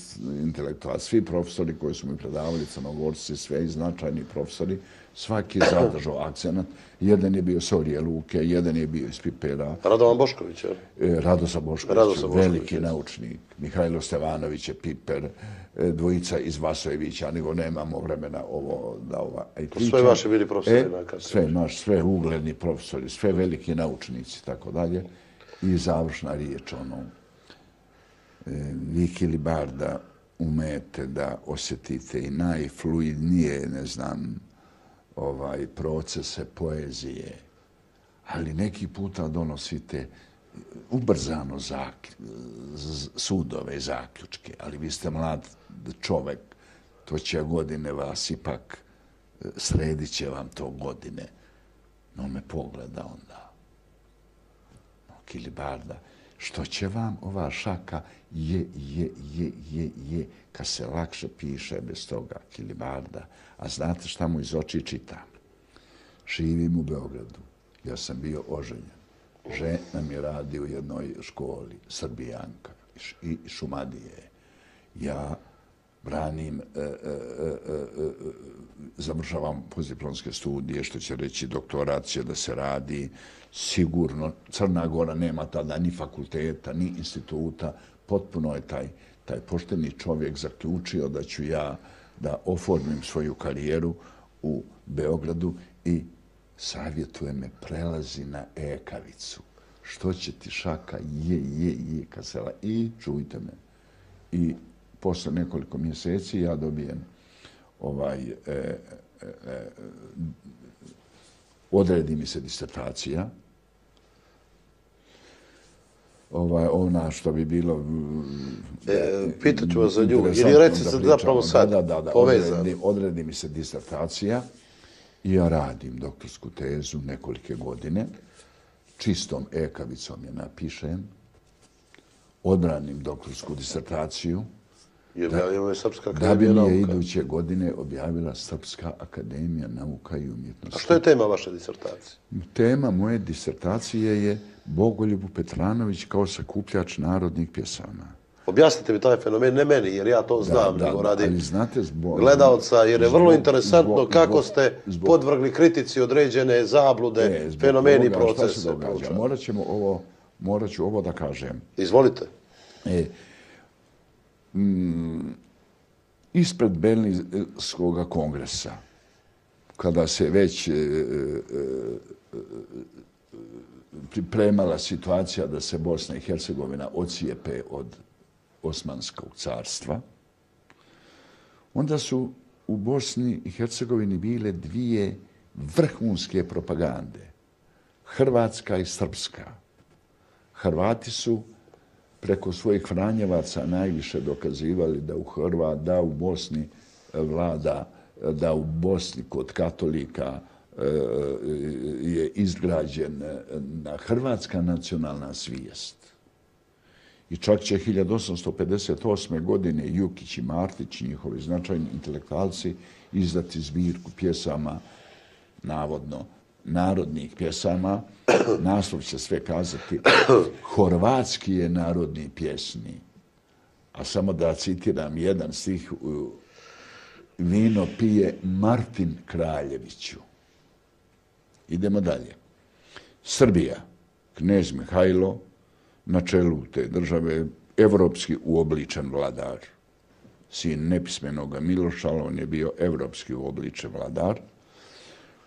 intelektualci, svi profesori koji su mi predavali, Crnogorci, sve i značajni profesori, svaki je zadržao akcenat. Jedan je bio Sorije Luke, jedan je bio iz Pipera. Radovan Bošković, je li? E, Radosa Bošković, Radosa Bošković, veliki je. naučnik. Mihajlo Stevanović je Piper, e, dvojica iz Vasojevića, nego nemamo vremena ovo da ova... Sve vaši bili profesori e, na katedri. Sve naš, sve ugledni profesori, sve veliki naučnici, tako dalje. I završna riječ, ono, e, vi Kilibarda umete da osjetite i najfluidnije, ne znam, ovaj procese poezije, ali neki puta donosite ubrzano zak, sudove i zaključke, ali vi ste mlad čovek, to će godine vas ipak, sredit će vam to godine. No me pogleda onda. No, Kilibarda, što će vam ova šaka je, je, je, je, je, kad se lakše piše bez toga, Kilibarda. A znate šta mu iz oči čitam? Živim u Beogradu. Ja sam bio oženjen. Žena mi radi u jednoj školi, Srbijanka i Šumadije. Ja branim, e, e, e, e, završavam postdiplomske studije, što će reći doktorat će da se radi. Sigurno, Crna Gora nema tada ni fakulteta, ni instituta. Potpuno je taj, taj pošteni čovjek zaključio da ću ja da oformim svoju karijeru u Beogradu i savjetuje me prelazi na ekavicu. Što će ti šaka? Je, je, je, kasela. I čujte me. I posle nekoliko mjeseci ja dobijem ovaj, e, e, e, odredi mi se disertacija. Ovaj, ona što bi bilo... E, pitaću vas za nju. Ili reci se zapravo sad da, da, da, povezano. Odredi, odredi mi se disertacija i ja radim doktorsku tezu nekolike godine. Čistom ekavicom je napišem. Odbranim doktorsku disertaciju. I objavila je Srpska akademija nauka. Da bi je iduće godine objavila Srpska akademija nauka i umjetnosti. A što je tema vaše disertacije? Tema moje disertacije je Bogoljubu Petranović kao sakupljač narodnih pjesama. Objasnite mi taj fenomen, ne meni, jer ja to znam, da, nego da, radi ali znate, zbog, gledalca, jer je vrlo zbog, interesantno zbog, kako zbog, ste zbog, podvrgli kritici određene zablude, e, fenomeni, procese. Morat ćemo ovo, morat ću ovo da kažem. Izvolite. E, mm, ispred Berlinskog kongresa, kada se već e, e, pripremala situacija da se Bosna i Hercegovina ocijepe od Osmanskog carstva, onda su u Bosni i Hercegovini bile dvije vrhunske propagande. Hrvatska i srpska. Hrvati su preko svojih Franjevaca najviše dokazivali da u Hrva, da u Bosni vlada, da u Bosni kod katolika je izgrađena hrvatska nacionalna svijest. I čak će hiljadu osamsto pedeset osme. godine Jukić i Martić, njihovi značajni intelektualci, izdati zbirku pjesama, navodno narodnih pjesama. Naslov će sve kazati Horvatski je narodni pjesni. A samo da citiram jedan stih, vino pije Martin Kraljeviću. Idemo dalje. Srbija, knez Mihajlo, na čelu te države, evropski uobličen vladar. Sin nepismenoga Miloša, on je bio evropski uobličen vladar.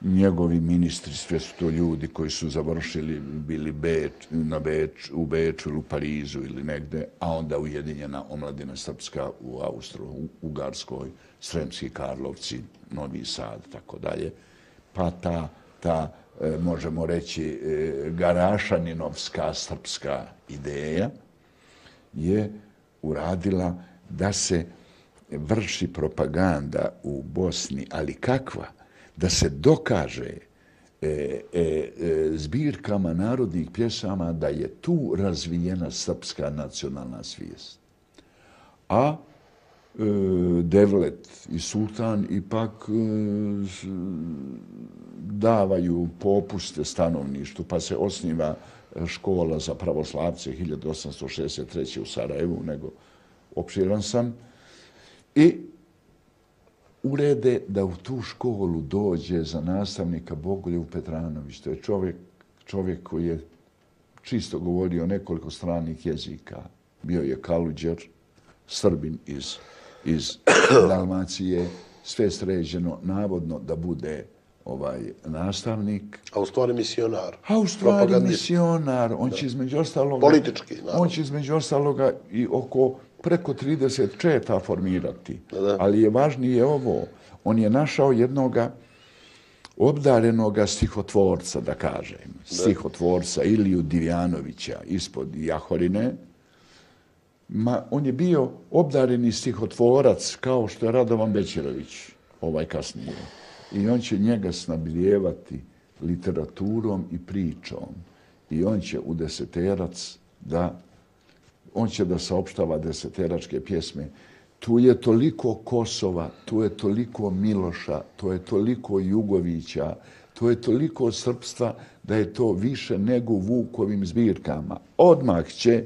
Njegovi ministri, sve su to ljudi koji su završili, bili Beč, na Beč, u Beču ili u Parizu ili negde, a onda Ujedinjena omladina srpska u Austro-Ugarskoj, Sremski Karlovci, Novi Sad, tako dalje. Pa ta, ta možemo reći, Garašaninovska srpska ideja je uradila da se vrši propaganda u Bosni, ali kakva? Da se dokaže e, e, e, zbirkama narodnih pjesama da je tu razvijena srpska nacionalna svijest. A e, Devlet i Sultan ipak e, davaju popuste stanovništvu, pa se osniva škola za pravoslavce hiljadu osamsto šezdeset treće. u Sarajevu, nego opširan sam, i urede da u tu školu dođe za nastavnika Bogoljub Petranović. To je čovjek, čovjek koji je čisto govorio nekoliko stranih jezika. Bio je Kaluđer, Srbin iz, iz Dalmacije, sve sređeno, navodno da bude ovaj nastavnik. A u stvari misionar. A u stvari misionar. On će između ostaloga... Politički, naravno. On će između ostaloga i oko preko trideset četa formirati. Da, da. Ali je važnije ovo. On je našao jednoga obdarenoga stihotvorca, da kažem. Da. Stihotvorca Iliju Divjanovića ispod Jahorine. Ma, on je bio obdareni stihotvorac kao što je Radovan Bećirović, ovaj kasnije. I on će njega snabdijevati literaturom i pričom. I on će u deseterac da on će da saopštava deseteračke pjesme. Tu je toliko Kosova, tu je toliko Miloša, tu je toliko Jugovića, tu je toliko srpstva da je to više nego u Vukovim zbirkama. Odmah će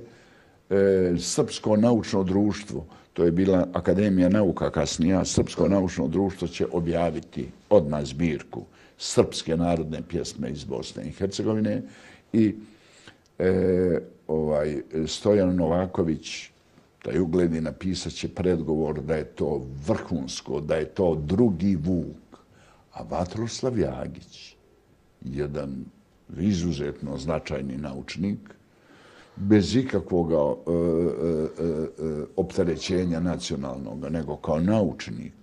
e, Srpsko naučno društvo, to je bila Akademija nauka kasnija, Srpsko naučno društvo će objaviti odmah zbirku srpske narodne pjesme iz Bosne i Hercegovine i e, ovaj, Stojan Novaković, taj ugledni, napisat će predgovor da je to vrhunsko, da je to drugi Vuk. A Vatroslav Jagić, jedan izuzetno značajni naučnik, bez ikakvog e, e, e, opterećenja nacionalnog, nego kao naučnik,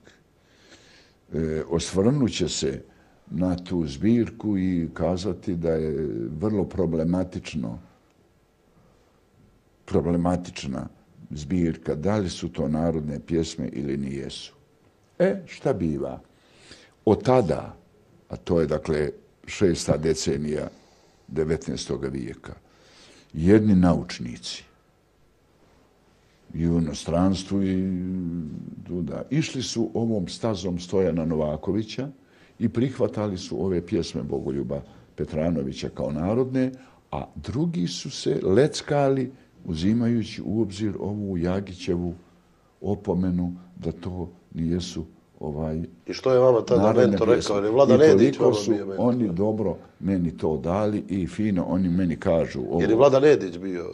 e, osvrnuće se na tu zbirku i kazati da je vrlo problematično problematična zbirka, da li su to narodne pjesme ili nijesu. E, šta biva? Od tada, a to je dakle šesta decenija devetnaestog vijeka, jedni naučnici i u inostranstvu i tuda, išli su ovom stazom Stojana Novakovića i prihvatali su ove pjesme Bogoljuba Petranovića kao narodne, a drugi su se leckali uzimajući u obzir ovu Jagićevu opomenu da to nijesu ovaj... I što je vama tada mentor rekao? Je Vlada Nedić vama bio mentor? Oni dobro meni to dali i fino oni meni kažu... Ovo, jer je Vlada Nedić bio...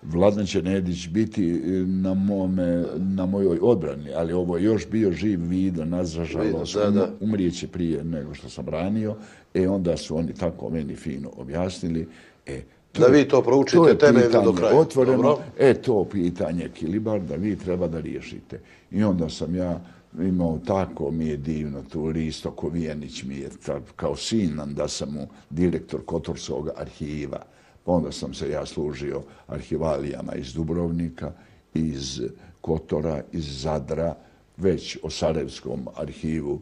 Vladan će Nedić biti na, mome, na mojoj odbrani, ali ovo je još bio živ Vido, nažalost, umrijeće prije nego što sam branio. E onda su oni tako meni fino objasnili. E, To, da vi to proučite temeljno do kraja. Otvoreno, dobro. E, to pitanje Kilibar da vi treba da riješite. I onda sam ja imao tako, mi je divno, tu Risto Kovijenić mi je kao sin, da sam mu direktor Kotorskog arhiva. Pa onda sam se ja služio arhivalijama iz Dubrovnika, iz Kotora, iz Zadra, već o Sarajevskom arhivu,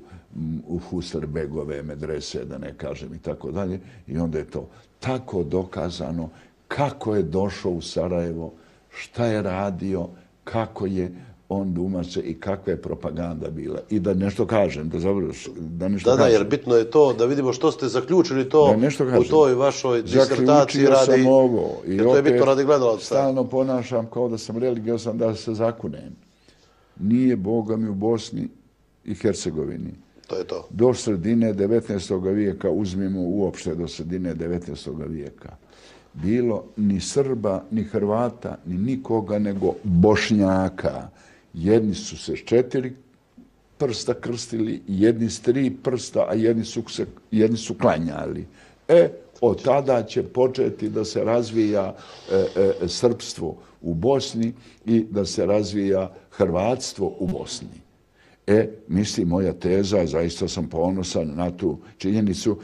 u Husarbegove medrese, da ne kažem i tako dalje. I onda je to tako dokazano kako je došao u Sarajevo, šta je radio, kako je on dumače i kakva je propaganda bila. I da nešto kažem, da završim. Da, nešto da, da, kažem. jer bitno je to da vidimo što ste zaključili to u toj vašoj disertaciji radi. Zaključio sam ovo. I jer to je bitno radi gledalaca. Stalno ponašam kao da sam religiosan, da se zakunem. Nije Boga mi u Bosni i Hercegovini. To je to. Do sredine devetnaestog vijeka, uzmimo uopšte do sredine devetnaestog vijeka, bilo ni Srba, ni Hrvata, ni nikoga, nego Bošnjaka. Jedni su se s četiri prsta krstili, jedni s tri prsta, a jedni su, se, jedni su klanjali. E, od tada će početi da se razvija e, e, srpstvo u Bosni i da se razvija hrvatstvo u Bosni. E, misli moja teza, zaista sam ponosan na tu činjenicu.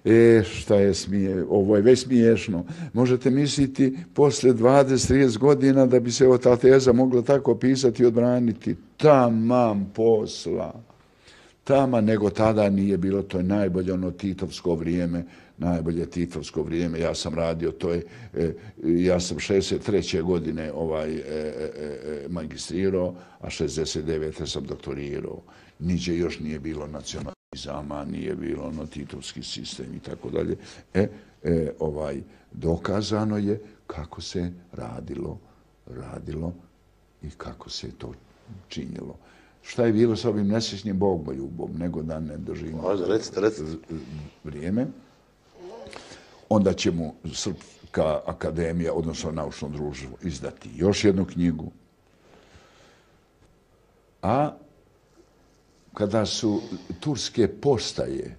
E, šta je smije, ovo je već smiješno. Možete misliti posle dvadeset trideset godina da bi se ta teza mogla tako pisati i odbraniti. Tamam posla. Tama, nego tada nije bilo, to je najbolje ono titovsko vrijeme, najbolje titovsko vrijeme. Ja sam radio, to je, e, ja sam šezdeset treće godine ovaj, e, e, magistrirao, a šezdeset devete sam doktorirao. Niđe još nije bilo nacionalizama, nije bilo ono titovski sistem i tako dalje. E, e, ovaj, dokazano je kako se radilo, radilo i kako se to činjelo. Šta je bilo sa ovim nesrećnim bogmoljubom, nego da ne držimo recite, recite. vrijeme. Onda će mu Srpska akademija, odnosno naučno društvo, izdati još jednu knjigu. A kada su turske postaje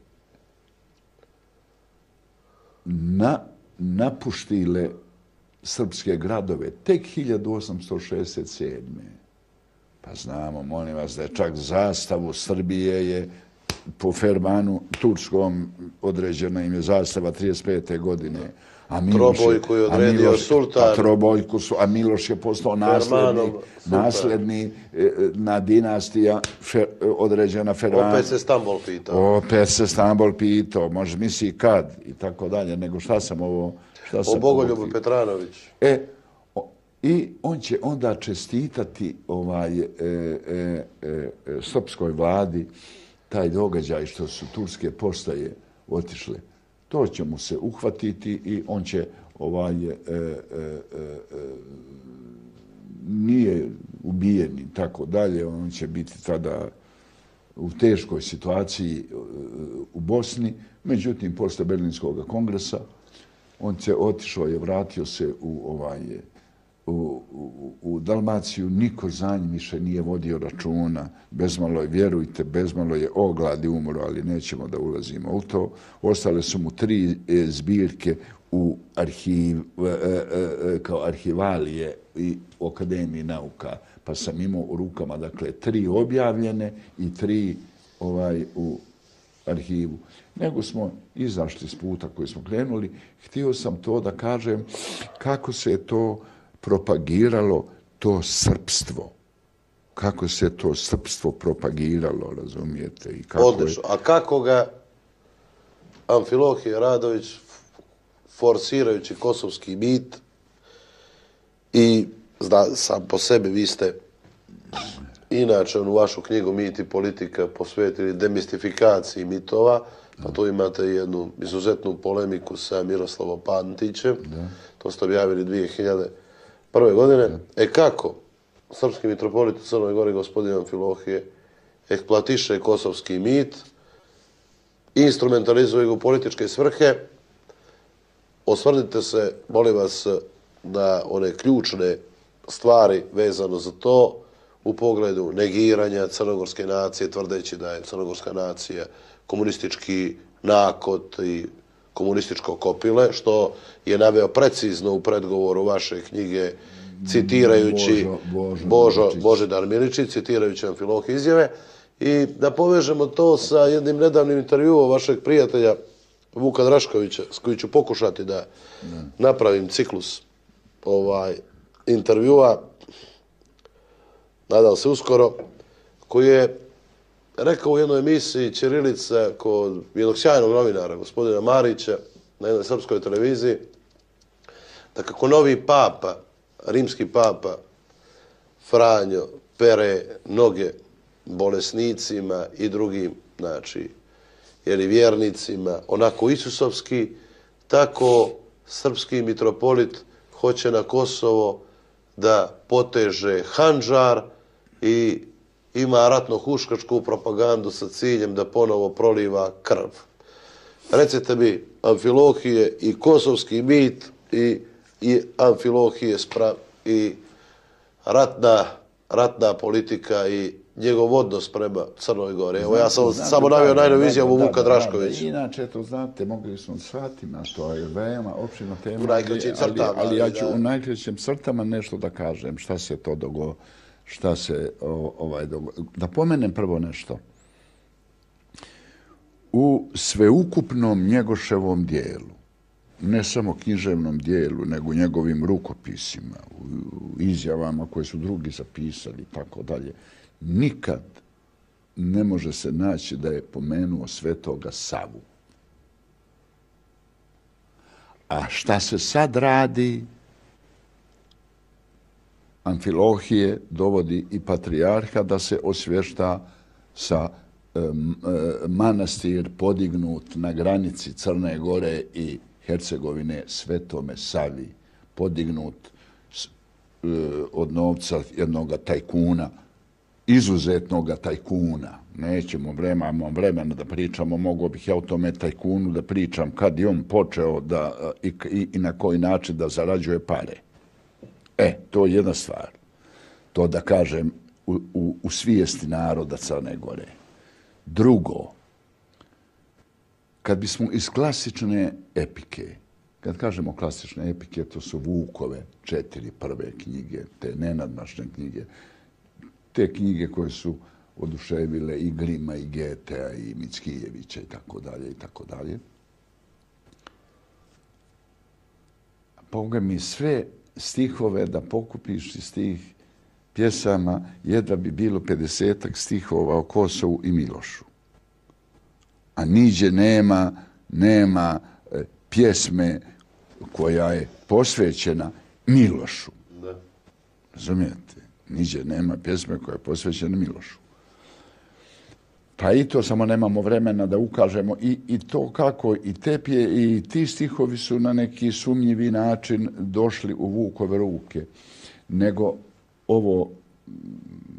na, napuštile srpske gradove tek hiljadu osamsto šezdeset sedme. Pa znamo, molim vas, da je čak zastavu Srbije je po fermanu turskom određena im je zastava trideset pete godine. A Miloš, Trobojku je odredio Miloš, sultan. A Trobojku su, a Miloš je postao nasledni, nasledni na dinastija fe, određena fermana. Opet se Stambol pitao. Opet se Stambol pitao, može misli kad i tako dalje, nego šta sam ovo... Šta sam o Bogoljubu Petranović. E, i on će onda čestitati ovaj, e, e, e, srpskoj vladi taj događaj što su turske postaje otišle. To će mu se uhvatiti i on će ovaj, e, e, e, nije ubijen i tako dalje. On će biti tada u teškoj situaciji u Bosni. Međutim, posle Berlinskog kongresa on će otišao je, vratio se u ovaj U, u, u Dalmaciju, niko za njim više nije vodio računa. Bezmalo je, vjerujte, bezmalo je ogladi umro, ali nećemo da ulazimo u to. Ostale su mu tri e, zbirke u arhiv, e, e, kao arhivalije i u Akademiji nauka. Pa sam imao u rukama, dakle, tri objavljene i tri ovaj, u arhivu. Nego smo izašli s puta koji smo krenuli. Htio sam to da kažem kako se to propagiralo to srpstvo. Kako se to srpstvo propagiralo, razumijete? I kako odlično. Je... A kako ga Amfilohije Radović, forsirajući kosovski mit i zna, sam po sebi vi ste inače u vašu knjigu Mit i politika posvetili demistifikaciji mitova, pa tu imate jednu izuzetnu polemiku sa Miroslavom Pantićem. Da. To ste objavili dvije hiljade prve godine. Da. E kako srpski mitropolit u Crnoj Gori, gospodin Amfilohije, eksploatiše kosovski mit, instrumentalizuje ga u političke svrhe. Osvrnite se, molim vas, na one ključne stvari vezano za to u pogledu negiranja crnogorske nacije, tvrdeći da je crnogorska nacija komunistički nakot i komunističko kopile, što je naveo precizno u predgovoru vaše knjige, citirajući Božo, Božo, Božo, Božidar Miličić, citirajući Amfilohije izjave. I da povežemo to sa jednim nedavnim intervjuom vašeg prijatelja Vuka Draškovića, s kojim ću pokušati da napravim ciklus ovaj intervjua, nadam se uskoro, koji je rekao u jednoj emisiji Ćirilica kod jednog sjajnog novinara, gospodina Marića, na jednoj srpskoj televiziji, da kako novi papa, rimski papa, Franjo, pere noge bolesnicima i drugim, znači, jeli vjernicima, onako isusovski, tako srpski mitropolit hoće na Kosovo da poteže handžar i ima ratno-huškačku propagandu sa ciljem da ponovo proliva krv. Recite mi, Amfilohije i kosovski mit i, i Amfilohije spra, i ratna, ratna politika i njegov odnos prema Crnoj Gori. Evo, ja sam znate, samo navio najnoviju izjavu Vuka Draškovića. Inače, to znate, mogli smo satima, to je veoma opširna tema. U najkraćim crtama. Ali, ali ja ću da. u najkraćim crtama nešto da kažem, šta se to dogo, šta se o, ovaj dogo. Da pomenem prvo nešto. U sveukupnom Njegoševom dijelu, ne samo književnom dijelu, nego njegovim rukopisima, u izjavama koje su drugi zapisali i tako dalje, nikad ne može se naći da je pomenuo Svetoga Savu. A šta se sad radi? Amfilohije dovodi i patrijarha da se osvješta sa um, manastir podignut na granici Crne Gore i Hercegovine Svetome Savi, podignut uh, od novca jednog tajkuna, izuzetnog tajkuna. Nećemo vremena, vremena da pričamo, mogo bih ja o tome tajkunu da pričam kad je on počeo da, i, i, i na koji način da zarađuje pare. E, to je jedna stvar. To da kažem u, u, u svijesti naroda Crne Gore. Drugo, kad bismo iz klasične epike, kad kažemo klasične epike, to su Vukove četiri prve knjige, te nenadmašne knjige, te knjige koje su oduševile i Grima, i Getea, i Mickijevića, i tako dalje, i tako dalje. Boga mi sve stihove da pokupiš iz tih pjesama, jedva bi bilo pedesetak stihova o Kosovu i Milošu. A niđe nema, nema e, pjesme koja je posvećena Milošu. Da. Razumijete? Niđe nema pjesme koja je posvećena Milošu. Pa i to samo nemamo vremena da ukažemo i, i to kako i te pje, i ti stihovi su na neki sumnjivi način došli u Vukove ruke. Nego ovo,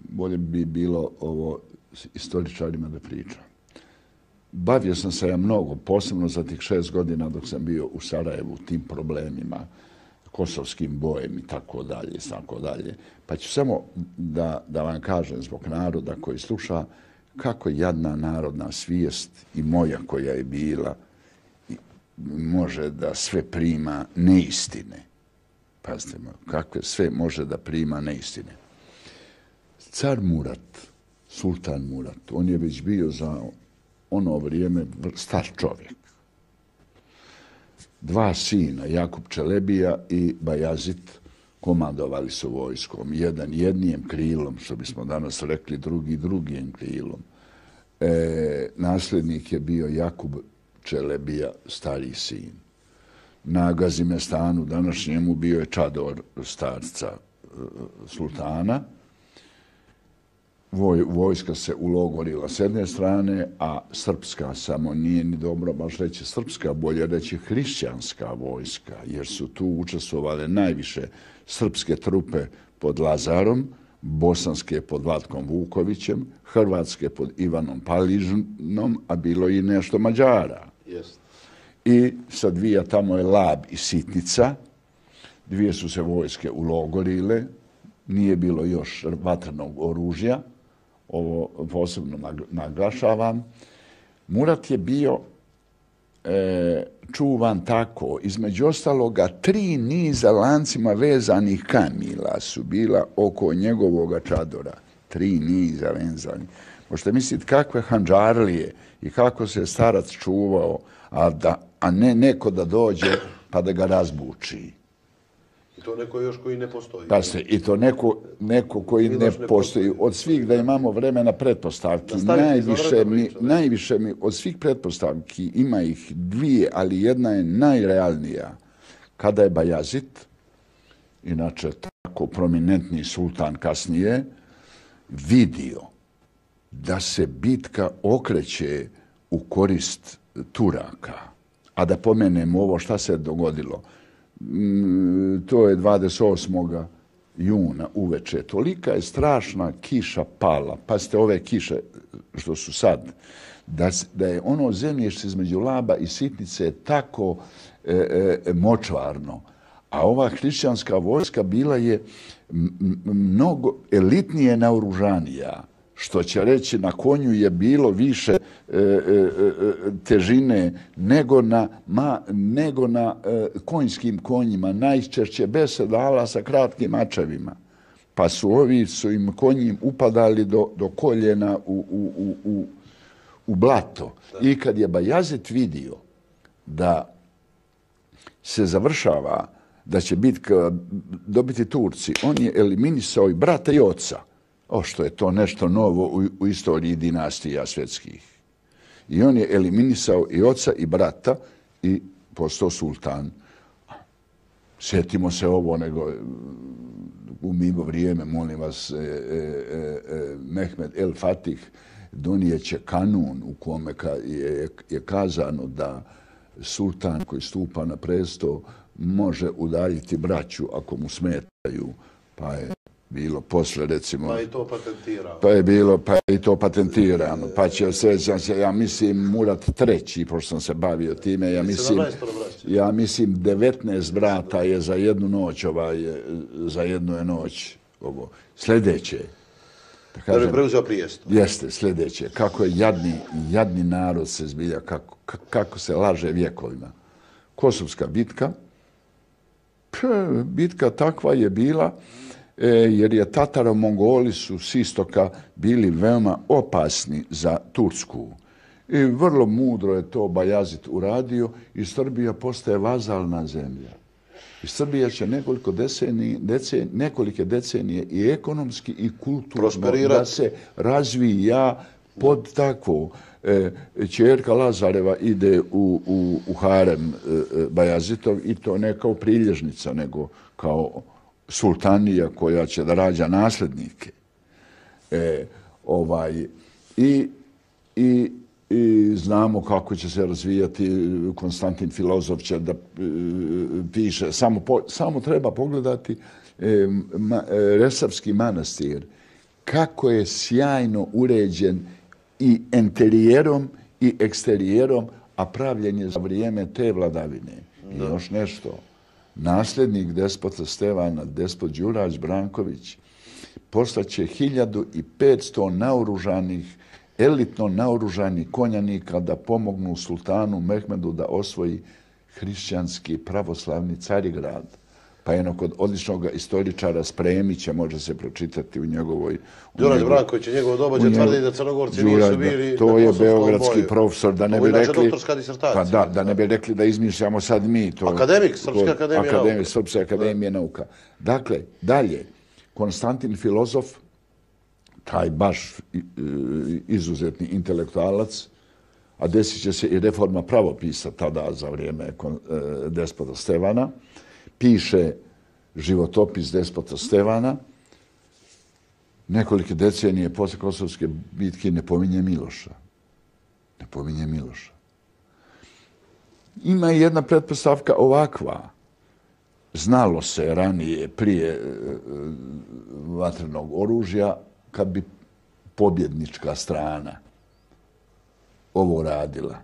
bolje bi bilo ovo istoričarima da pričam. Bavio sam se ja mnogo, posebno za tih šest godina dok sam bio u Sarajevu, tim problemima, kosovskim bojem i tako dalje, i tako dalje. Pa ću samo da, da vam kažem zbog naroda koji sluša kako jadna narodna svijest i moja koja je bila može da sve prima neistine. Pazite, kakve sve može da prima neistine. Car Murat, sultan Murat, on je već bio za ono vrijeme star čovjek. Dva sina, Jakub Čelebija i Bajazit, komandovali su vojskom. Jedan jednijem krilom, što bismo danas rekli, drugi drugim krilom. E, nasljednik je bio Jakub Čelebija, stariji sin. Na Gazimestanu današnjemu bio je čador starca sultana. Voj, vojska se ulogorila s jedne strane, a srpska samo nije ni dobro baš reći srpska, bolje reći hrišćanska vojska, jer su tu učestvovale najviše srpske trupe pod Lazarom, bosanske pod Vlatkom Vukovićem, hrvatske pod Ivanom Paližnom, a bilo i nešto Mađara. Yes. I sad dvija tamo je Lab i Sitnica, dvije su se vojske ulogorile, nije bilo još vatrenog oružja, ovo posebno naglašavam. Murat je bio e, čuvan tako, između ostaloga tri niza lancima vezanih kamila su bila oko njegovoga čadora. Tri niza vezanih. Možete misliti kakve handžarlije i kako se starac čuvao, a, da, a ne neko da dođe pa da ga razbuči. I to neko još koji ne postoji. Pa se, i to neko, neko koji ne, ne postoji. Od svih da imamo vremena pretpostavki, najviše mi, najviše mi, od svih pretpostavki ima ih dvije, ali jedna je najrealnija. Kada je Bajazid, inače tako prominentni sultan kasnije, vidio da se bitka okreće u korist Turaka. A da pomenemo ovo šta se dogodilo. To je dvadeset osmog juna uveče. Tolika je strašna kiša pala. Pazite ove kiše što su sad. Da, da je ono zemljište između Laba i Sitnice tako e, e, močvarno. A ova hrišćanska vojska bila je mnogo elitnije naoružanija. Što će reći, na konju je bilo više e, e, težine nego na, ma, nego na e, konjskim konjima, najčešće bez sedala sa kratkim mačevima. Pa su ovi su im konjim upadali do, do koljena u, u, u, u blato. I kad je Bajazid vidio da se završava, da će bitka dobiti Turci, on je eliminisao i brata i oca. O, što je to nešto novo u, u istoriji dinastija svjetskih. I on je eliminisao i oca i brata i postao sultan. Sjetimo se ovo, nego u mimo vrijeme, molim vas, e, e, e, Mehmed el Fatih donijeće kanun u kome ka, je, je kazano da sultan koji stupa na presto može udaljiti braću ako mu smetaju, pa je bilo posle, recimo... Pa i to patentirano. Pa je bilo, pa i to patentirano. Pa će, srećam se, ja mislim, Murat treći, pošto sam se bavio time, ja mislim, ja mislim devetnaest brata je za jednu noć, ovaj, za jednu je noć. Ovo. Sljedeće. Da kažem, da bi preuzeo prijesto. Jeste, sljedeće. Kako je jadni, jadni narod se zbilja, kako, kako se laže vjekovima. Kosovska bitka. P, bitka takva je bila, jer je Tataro-Mongoli su s istoka bili veoma opasni za Tursku. I vrlo mudro je to Bajazid uradio i Srbija postaje vazalna zemlja. I Srbija će nekoliko decenije, decenije, nekolike decenije i ekonomski i kulturno da se razvija pod takvo. E, Ćerka Lazareva ide u, u, u harem e, Bajazitov i to ne kao prilježnica, nego kao sultanija koja će da rađa nasljednike. E, ovaj, i, i, I znamo kako će se razvijati. Konstantin Filozof će da e, piše. Samo, po, samo treba pogledati e, ma, e, Resavski manastir. Kako je sjajno uređen i interijerom i eksterijerom, a pravljen je za vrijeme te vladavine. I još nešto. Nasljednik despota Stevana, despot Đurađ Branković, poslaće hiljadu i petsto naoružanih, elitno naoružanih konjanika da pomognu sultanu Mehmedu da osvoji hrišćanski pravoslavni Carigrad. Pa jedno kod odličnog istoričara Spremića može se pročitati u njegovoj... Đurađ Branković je njegovo dobođe tvrdi da Crnogorci nisu bili... To je beogradski profesor, da ne bi rekli... Ovo je doktorska disertacija. Pa da, da ne bi rekli da izmišljamo sad mi to... Akademik, Srpska akademija nauka. Akademik, Srpska akademija nauka. Dakle, dalje, Konstantin Filozof, taj baš izuzetni intelektualac, a desit će se i reforma pravopisa tada za vrijeme despota Stevana, piše životopis despota Stevana, nekolike decenije posle Kosovske bitke ne pominje Miloša. Ne pominje Miloša. Ima i jedna pretpostavka ovakva. Znalo se ranije, prije vatrenog oružja, kad bi pobjednička strana ovo radila.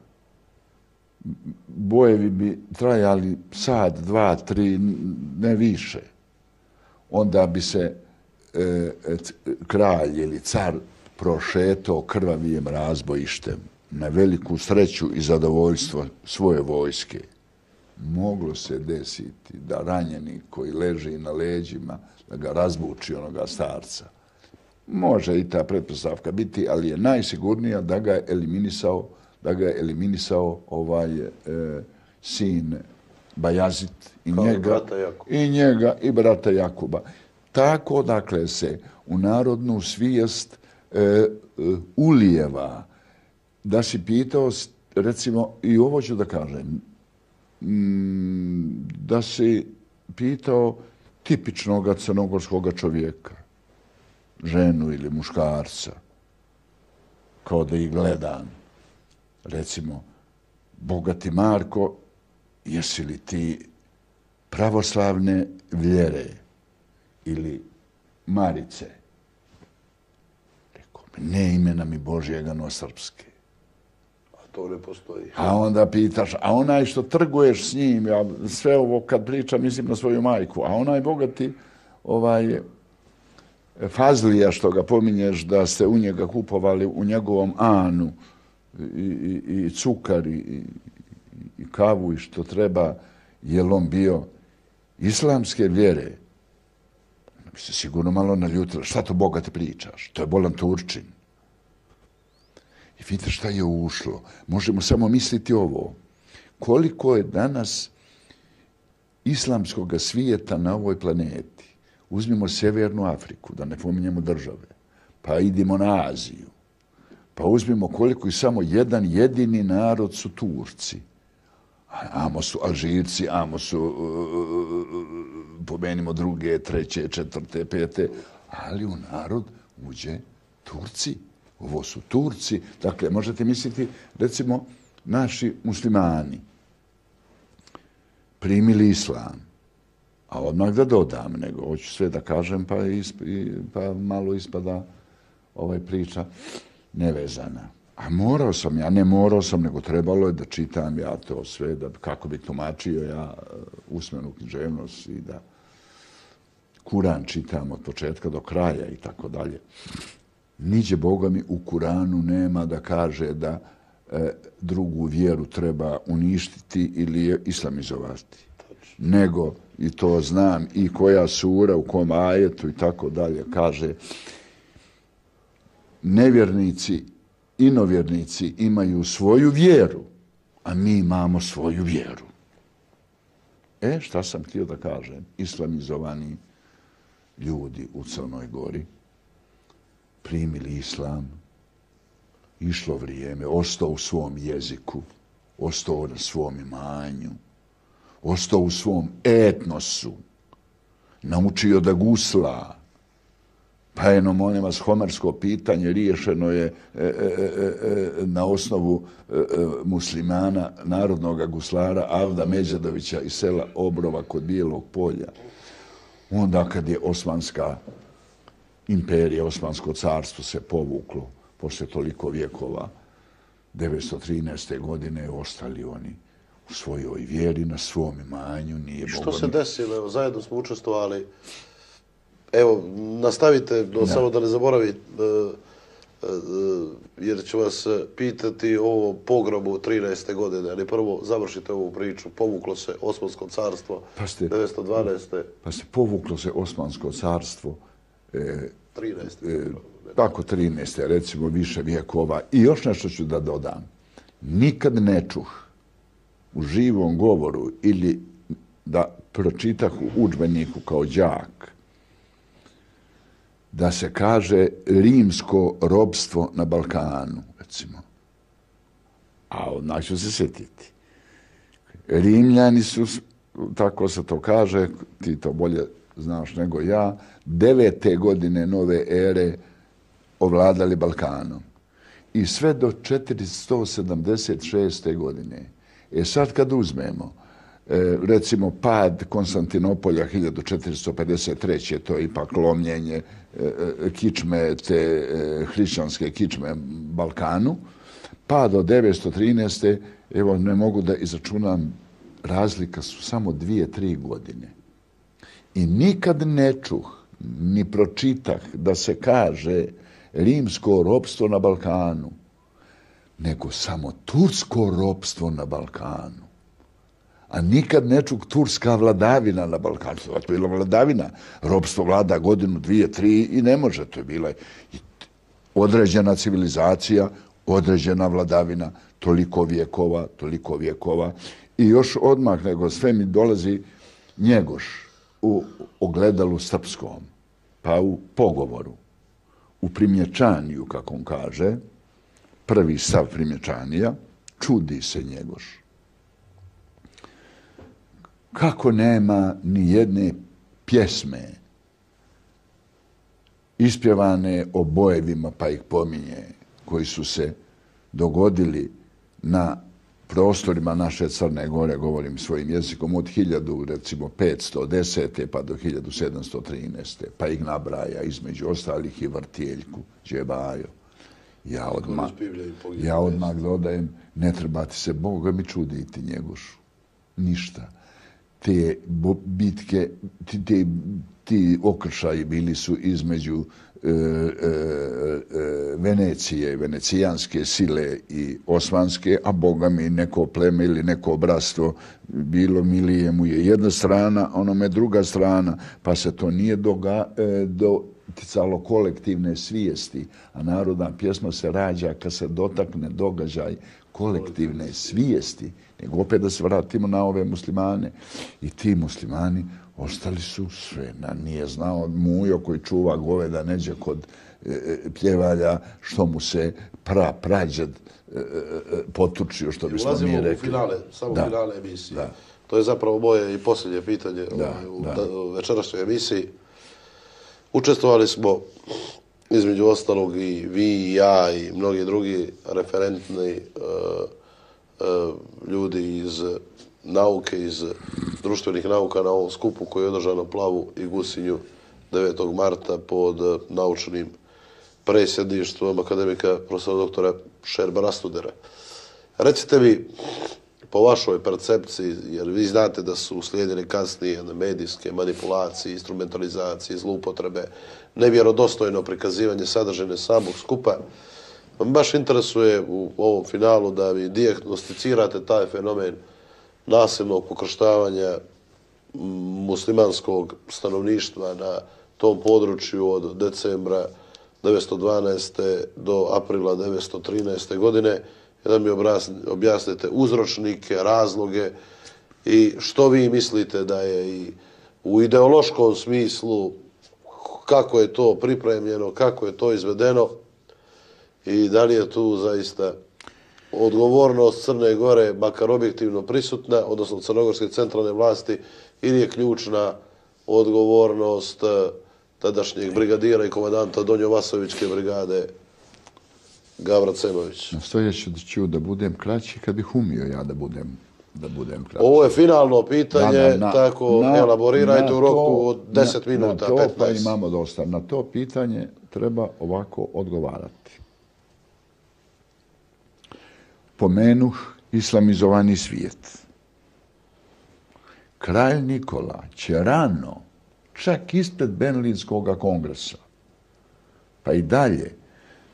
Bojevi bi trajali sat, dva, tri, ne više. Onda bi se e, kralj ili car prošetao krvavijim razbojištem na veliku sreću i zadovoljstvo svoje vojske. Moglo se desiti da ranjeni koji leži na leđima, da ga razbuči onoga starca. može i ta pretpostavka biti, ali je najsigurnija da ga je eliminisao, da ga je eliminisao ovaj e, sin Bajazid i njega, i njega i brata Jakuba. Tako, dakle, se u narodnu svijest e, e, ulijeva. Da si pitao, recimo, i ovo ću da kažem, m, da si pitao tipičnog crnogorskog čovjeka, ženu ili muškarca, kao da ih gledam. Recimo, bogati Marko, jesi li ti pravoslavne vjere ili Marice? Rekao mi, ne imena mi Božjega, no srpske. A to ne postoji. A onda pitaš, a onaj što trguješ s njim, ja sve ovo kad pričam mislim na svoju majku, a onaj bogati ovaj, Fazlija što ga pominješ da ste u njega kupovali u njegovom Anu i, i, i cukar i, i kavu i što treba, je li on bio islamske vjere? Bi se sigurno malo naljutila. Šta to bogati pričaš? To je bolan Turčin. I vidite šta je ušlo. Možemo samo misliti ovo. Koliko je danas islamskog svijeta na ovoj planeti? Uzmimo Sjevernu Afriku, da ne pominjemo države, pa idemo na Aziju. Pa uzmimo koliko i samo jedan jedini narod su Turci. Amo su Alžirci, amo su, uh, pomenimo druge, treće, četvrte, pete, ali u narod uđe Turci. Ovo su Turci. Dakle, možete misliti, recimo, naši muslimani primili islam, a odmah da dodam, nego hoću sve da kažem, pa, isp, pa malo ispada ovaj priča nevezana. A morao sam, ja ne morao sam, nego trebalo je da čitam ja to sve, da kako bi tumačio ja usmenu književnost i da Kuran čitam od početka do kraja i tako dalje. Niđe Boga mi u Kuranu nema da kaže da e, drugu vjeru treba uništiti ili je islamizovati. Nego, i to znam, i koja sura, u kom ajetu i tako dalje, kaže nevjernici, inovjernici imaju svoju vjeru, a mi imamo svoju vjeru. E, šta sam htio da kažem? Islamizovani ljudi u Crnoj Gori primili islam, išlo vrijeme, ostao u svom jeziku, ostao na svom imanju, ostao u svom etnosu, naučio da gusla. Pa jedno, molim vas, homersko pitanje riješeno je e, e, e, na osnovu e, e, muslimana, narodnog guslara Avda Međedovića iz sela Obrova kod Bijelog polja. Onda kad je Osmanska imperija, Osmansko carstvo se povuklo posle toliko vjekova, devetsto trinaeste. godine ostali oni u svojoj vjeri, na svom imanju. Nije što se desilo? Evo, zajedno smo učestvovali. Evo, nastavite, no, da. Samo da ne zaboravi, jer ću vas pitati o pogrobu trinaeste. godine, ali prvo završite ovu priču. Povuklo se Osmansko carstvo pa ste, devetsto dvanaeste. Pa se povuklo se Osmansko carstvo e, trinaeste. E, tako trinaeste. recimo više vjekova. I još nešto ću da dodam. Nikad ne čuh u živom govoru ili da pročitah u udžbeniku kao đak da se kaže rimsko robstvo na Balkanu, recimo. A odmah ću se sjetiti. Rimljani su, tako se to kaže, ti to bolje znaš nego ja, devete godine nove ere ovladali Balkanom. I sve do četiristo sedamdeset šeste. godine. E sad kad uzmemo, e, recimo pad Konstantinopolja hiljadu četiristo pedeset treće. to je ipak lomljenje e, kičme, te e, hrišćanske kičme Balkanu, pad od devetsto trinaeste. evo ne mogu da izračunam, razlika su samo dvije, tri godine. I nikad ne čuh, ni pročitah da se kaže rimsko ropstvo na Balkanu, nego samo tursko ropstvo na Balkanu. a nikad ne čuk turska vladavina na Balkanu. To je bila vladavina. Ropstvo vlada godinu, dvije, tri i ne može. To je bila određena civilizacija, određena vladavina, toliko vjekova, toliko vjekova. I još odmah nego sve mi dolazi Njegoš u ogledalu srpskom, pa u pogovoru, u primječaniju, kako on kaže, prvi stav primječanija, čudi se Njegoš. Kako nema ni jedne pjesme ispjevane o bojevima, pa ih pominje, koji su se dogodili na prostorima naše Crne Gore, govorim svojim jezikom, od hiljadu, recimo, petsto desete pa do hiljadu sedamsto trinaeste. Pa ih nabraja, između ostalih i Vrtijeljku, Đebajo. Ja odmah, ja odmah dodajem, ne treba ti se Boga mi čuditi Njegošu. Ništa. Te bitke, ti, ti, ti okršaji bili su između e, e, e, Venecije, venecijanske sile i osmanske, a Boga mi neko pleme ili neko bratstvo bilo milije mu je jedna strana, onome druga strana, pa se to nije doga, e, doticalo kolektivne svijesti, a narodna pjesma se rađa kad se dotakne događaj kolektivne svijesti, nego opet da se vratimo na ove muslimane. I ti muslimani ostali su sve. Nije znao Mujo koji čuva goveda neđe kod e, pljevalja što mu se pra, prađed e, e, potučio, što bismo mi rekli. U finale, samo da. finale emisije. Da. To je zapravo moje i posljednje pitanje da, u da. večerašnjoj emisiji. Učestvovali smo, između ostalog, i vi i ja i mnogi drugi referentni uh, uh, ljudi iz nauke, iz društvenih nauka na ovom skupu koji je održan u Plavu i Gusinju devetog marta pod naučnim predsjedništvom akademika profesora doktora Šerba Rastudera. Recite mi, po vašoj percepciji, jer vi znate da su uslijedili kasnije medijske manipulacije, instrumentalizacije, zloupotrebe, nevjerodostojno prikazivanje sadržine samog skupa, me baš interesuje u ovom finalu da vi dijagnosticirate taj fenomen nasilnog pokrštavanja muslimanskog stanovništva na tom području od decembra devetsto dvanaeste do aprila devetsto trinaeste godine, da mi objasnite uzročnike, razloge i što vi mislite da je i u ideološkom smislu, kako je to pripremljeno, kako je to izvedeno i da li je tu zaista odgovornost Crne Gore, makar objektivno prisutna, odnosno crnogorske centralne vlasti, ili je ključna odgovornost tadašnjeg brigadira i komandanta Donjo-Vasovićke brigade Gavra Cemović. Nastojeći ću da budem kraći kad bih umio ja da budem, da budem kraći. Ovo je finalno pitanje, na, na, na, tako na, elaborirajte na u roku to, od deset minuta, na to, petnaest. Pa imamo dosta. Na to pitanje treba ovako odgovarati. Pomenuh islamizovani svijet. Kralj Nikola će rano, čak ispred Berlinskog kongresa, pa i dalje,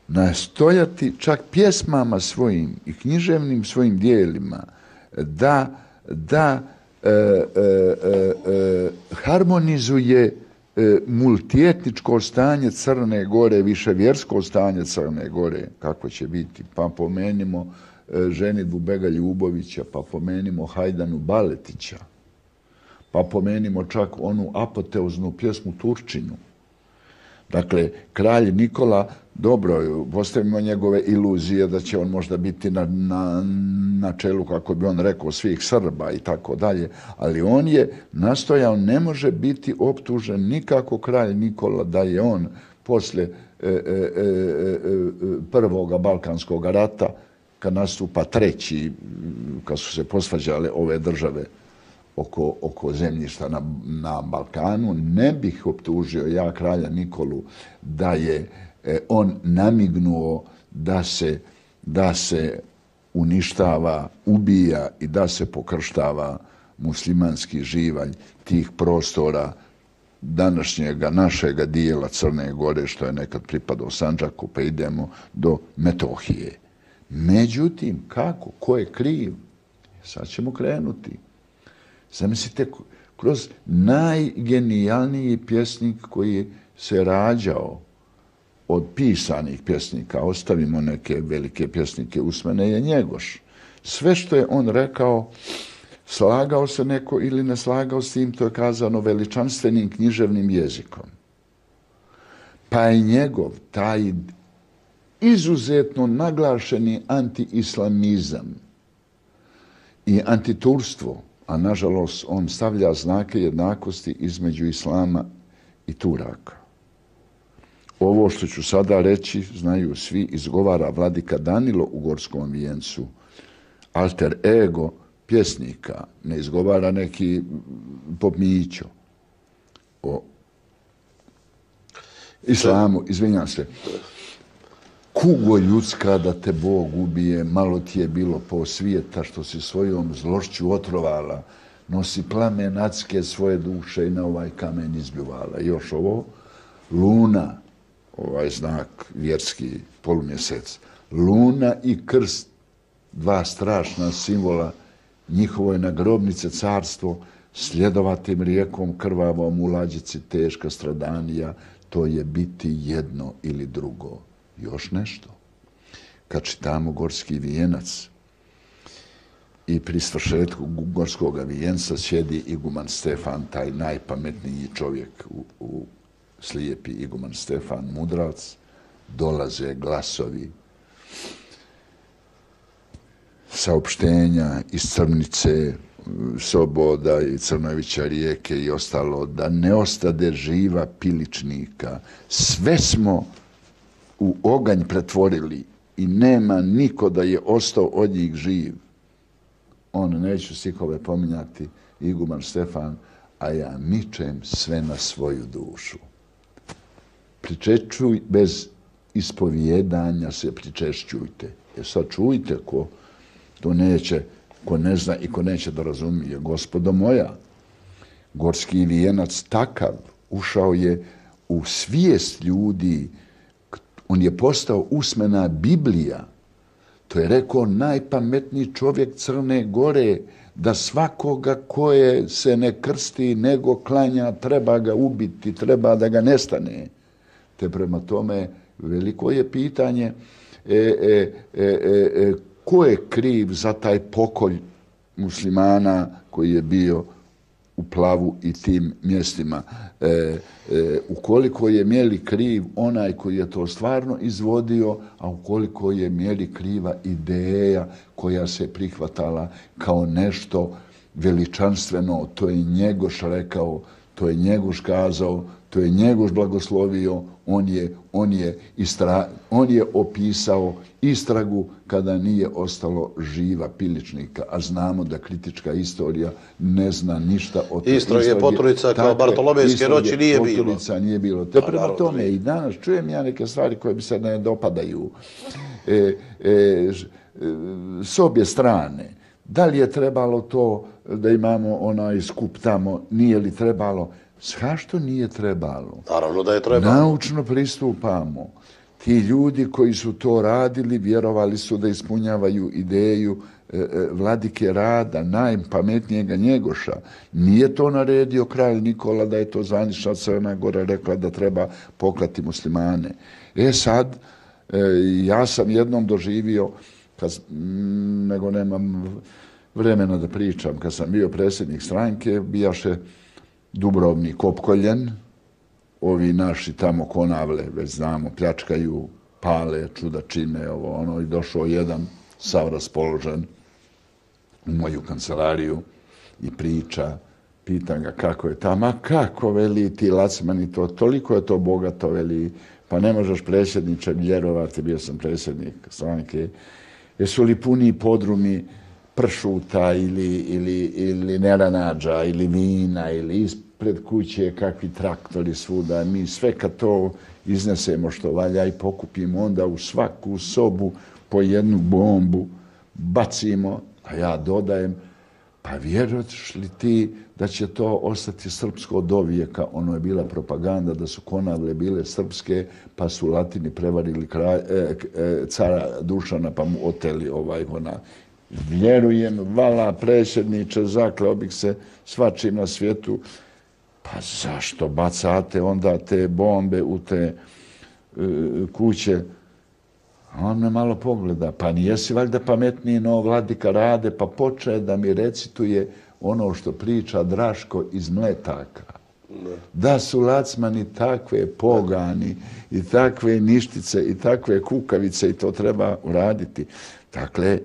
nastojati čak pjesmama svojim i književnim svojim dijelima da, da e, e, e, harmonizuje e, multietničko stanje Crne Gore, viševjersko stanje Crne Gore, kako će biti. Pa pomenimo e, ženidbu Bega Ljubovića, pa pomenimo Hajdanu Baletića, pa pomenimo čak onu apoteoznu pjesmu Turčinu. Dakle, kralj Nikola, dobro, postavimo njegove iluzije da će on možda biti na, na, na čelu, kako bi on rekao, svih Srba i tako dalje, ali on je nastojao, ne može biti optužen nikako kralj Nikola da je on posle e, e, e, prvoga Balkanskog rata, kad nastupa treći, kad su se posvađale ove države oko, oko zemljišta na, na Balkanu, ne bih optužio ja kralja Nikolu da je eh, on namignuo da se, da se uništava, ubija i da se pokrštava muslimanski živalj tih prostora današnjega našega dijela Crne Gore, što je nekad pripadao Sandžaku, pa idemo do Metohije. Međutim, kako? Ko je kriv? Sad ćemo krenuti. Zamislite, kroz najgenijalniji pjesnik koji se rađao od pisanih pjesnika, ostavimo neke velike pjesnike usmene, je Njegoš. Sve što je on rekao, slagao se neko ili ne slagao s tim, to je kazano veličanstvenim književnim jezikom. Pa je njegov taj izuzetno naglašeni anti-islamizam i antiturstvo, a nažalost on stavlja znake jednakosti između islama i Turaka. Ovo što ću sada reći, znaju svi, izgovara vladika Danilo u Gorskom vijencu, alter ego pjesnika, ne izgovara neki Pop Mićo o islamu, izvinjam se. Kugo ljudska da te Bog ubije, malo ti je bilo po svijeta što si svojom zlošću otrovala, nosi plamen adske svoje duše i na ovaj kamen izbljuvala. Još ovo, luna, ovaj znak vjerski, polumjesec, luna i krst, dva strašna simbola, njihovo je na grobnice carstvo, sljedovatim rijekom krvavom u lađici teška stradanija, to je biti jedno ili drugo. Još nešto. Kad čitamo Gorski vijenac i pri svršetku Gorskog vijenca sjedi iguman Stefan, taj najpametniji čovjek u, u slijepi iguman Stefan Mudrac, dolaze glasovi saopštenja iz Crnice, Soboda i Crnovića rijeke i ostalo, da ne ostade živa piličnika. Sve smo u oganj pretvorili i nema niko da je ostao od njih živ. On, neću stihove pominjati, iguman Stefan, a ja mičem sve na svoju dušu. Pričešćuj, bez ispovjedanja se pričešćujte. E sad čujte ko to neće, ko ne zna i ko neće da razumije. Gospodo moja, Gorski vijenac takav ušao je u svijest ljudi. On je postao usmena Biblija. To je rekao najpametniji čovjek Crne Gore, da svakoga koje se ne krsti nego klanja, treba ga ubiti, treba da ga nestane. Te prema tome veliko je pitanje e, e, e, e, ko je kriv za taj pokolj muslimana koji je bio u Plavu i tim mjestima. E, e, ukoliko je mjeri kriv onaj koji je to stvarno izvodio, a ukoliko je mjeri kriva ideja koja se prihvatala kao nešto veličanstveno, to je Njegoš rekao, to je Njegoš kazao, to je Njegoš blagoslovio, on je, on je, istra, on je opisao istragu kada nije ostalo živa piličnika, a znamo da kritička istorija ne zna ništa o toj istrage. Istrage Poturica kao Bartolomejske noći nije bilo. Poturica nije bilo. Te prema tome i danas čujem ja neke stvari koje mi se ne dopadaju. E, e, s obje strane, da li je trebalo to da imamo onaj skup tamo, nije li trebalo? Zašto nije trebalo? Naravno da je trebalo. Naučno pristupamo. Ti ljudi koji su to radili, vjerovali su da ispunjavaju ideju e, e, vladike Rada, najpametnijega Njegoša. Nije to naredio kralj Nikola da je to zvanična Crna Gora rekla da treba poklati muslimane. E sad, e, ja sam jednom doživio, kad, m, nego nemam vremena da pričam, kad sam bio predsjednik stranke, bijaše Dubrovnik opkoljen, ovi naši tamo Konavle, već znamo, pljačkaju, pale, čuda čine, ovo, ono, i došao jedan sav raspoložen u moju kancelariju i priča, pitam ga kako je tamo, a kako, veli, ti lacmani, to, toliko je to bogato, veli, pa ne možeš predsjedniče vjerovati, bio sam predsjednik stranke, jesu li puni podrumi pršuta ili, ili, ili neranađa ili vina ili ispred kuće kakvi traktori svuda. Mi sve kad to iznesemo što valja i pokupimo, onda u svaku sobu po jednu bombu bacimo, a ja dodajem, pa vjeruješ li ti da će to ostati srpsko do vijeka? Ono je bila propaganda da su Konavle bile srpske, pa su Latini prevarili kraj, e, e, cara Dušana pa mu oteli ovaj ona. vjerujem, vala predsjedniče, zakleo bih se svačim na svijetu. Pa zašto bacate onda te bombe u te uh, kuće? A on me malo pogleda, pa nijesi valjda pametniji no vladika Rade, pa počne da mi recituje ono što priča Draško iz Mletaka. Ne. Da su lacmani takve pogani i takve ništice i takve kukavice i to treba uraditi. Dakle,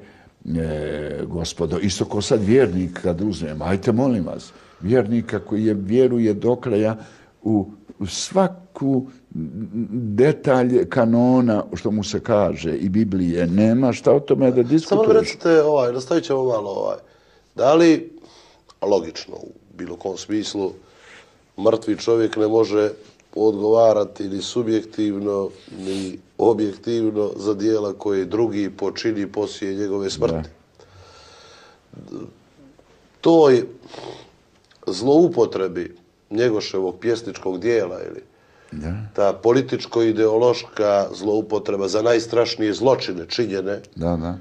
e, gospodo, isto ko sad vjernik kad uzmem, ajte molim vas, vjernika koji je vjeruje do kraja u, u svaku detalj kanona, što mu se kaže, i Biblije, nema šta o tome da diskutuješ. Samo mi recite, ovaj, nastavit ćemo malo, ovaj, da li, logično, u bilo kom smislu, mrtvi čovjek ne može odgovarati ni subjektivno, ni objektivno za dijela koje drugi počini poslije njegove smrti. Da. Toj zloupotrebi Njegoševog pjesničkog dijela ili da. Ta političko-ideološka zloupotreba za najstrašnije zločine činjene da, da.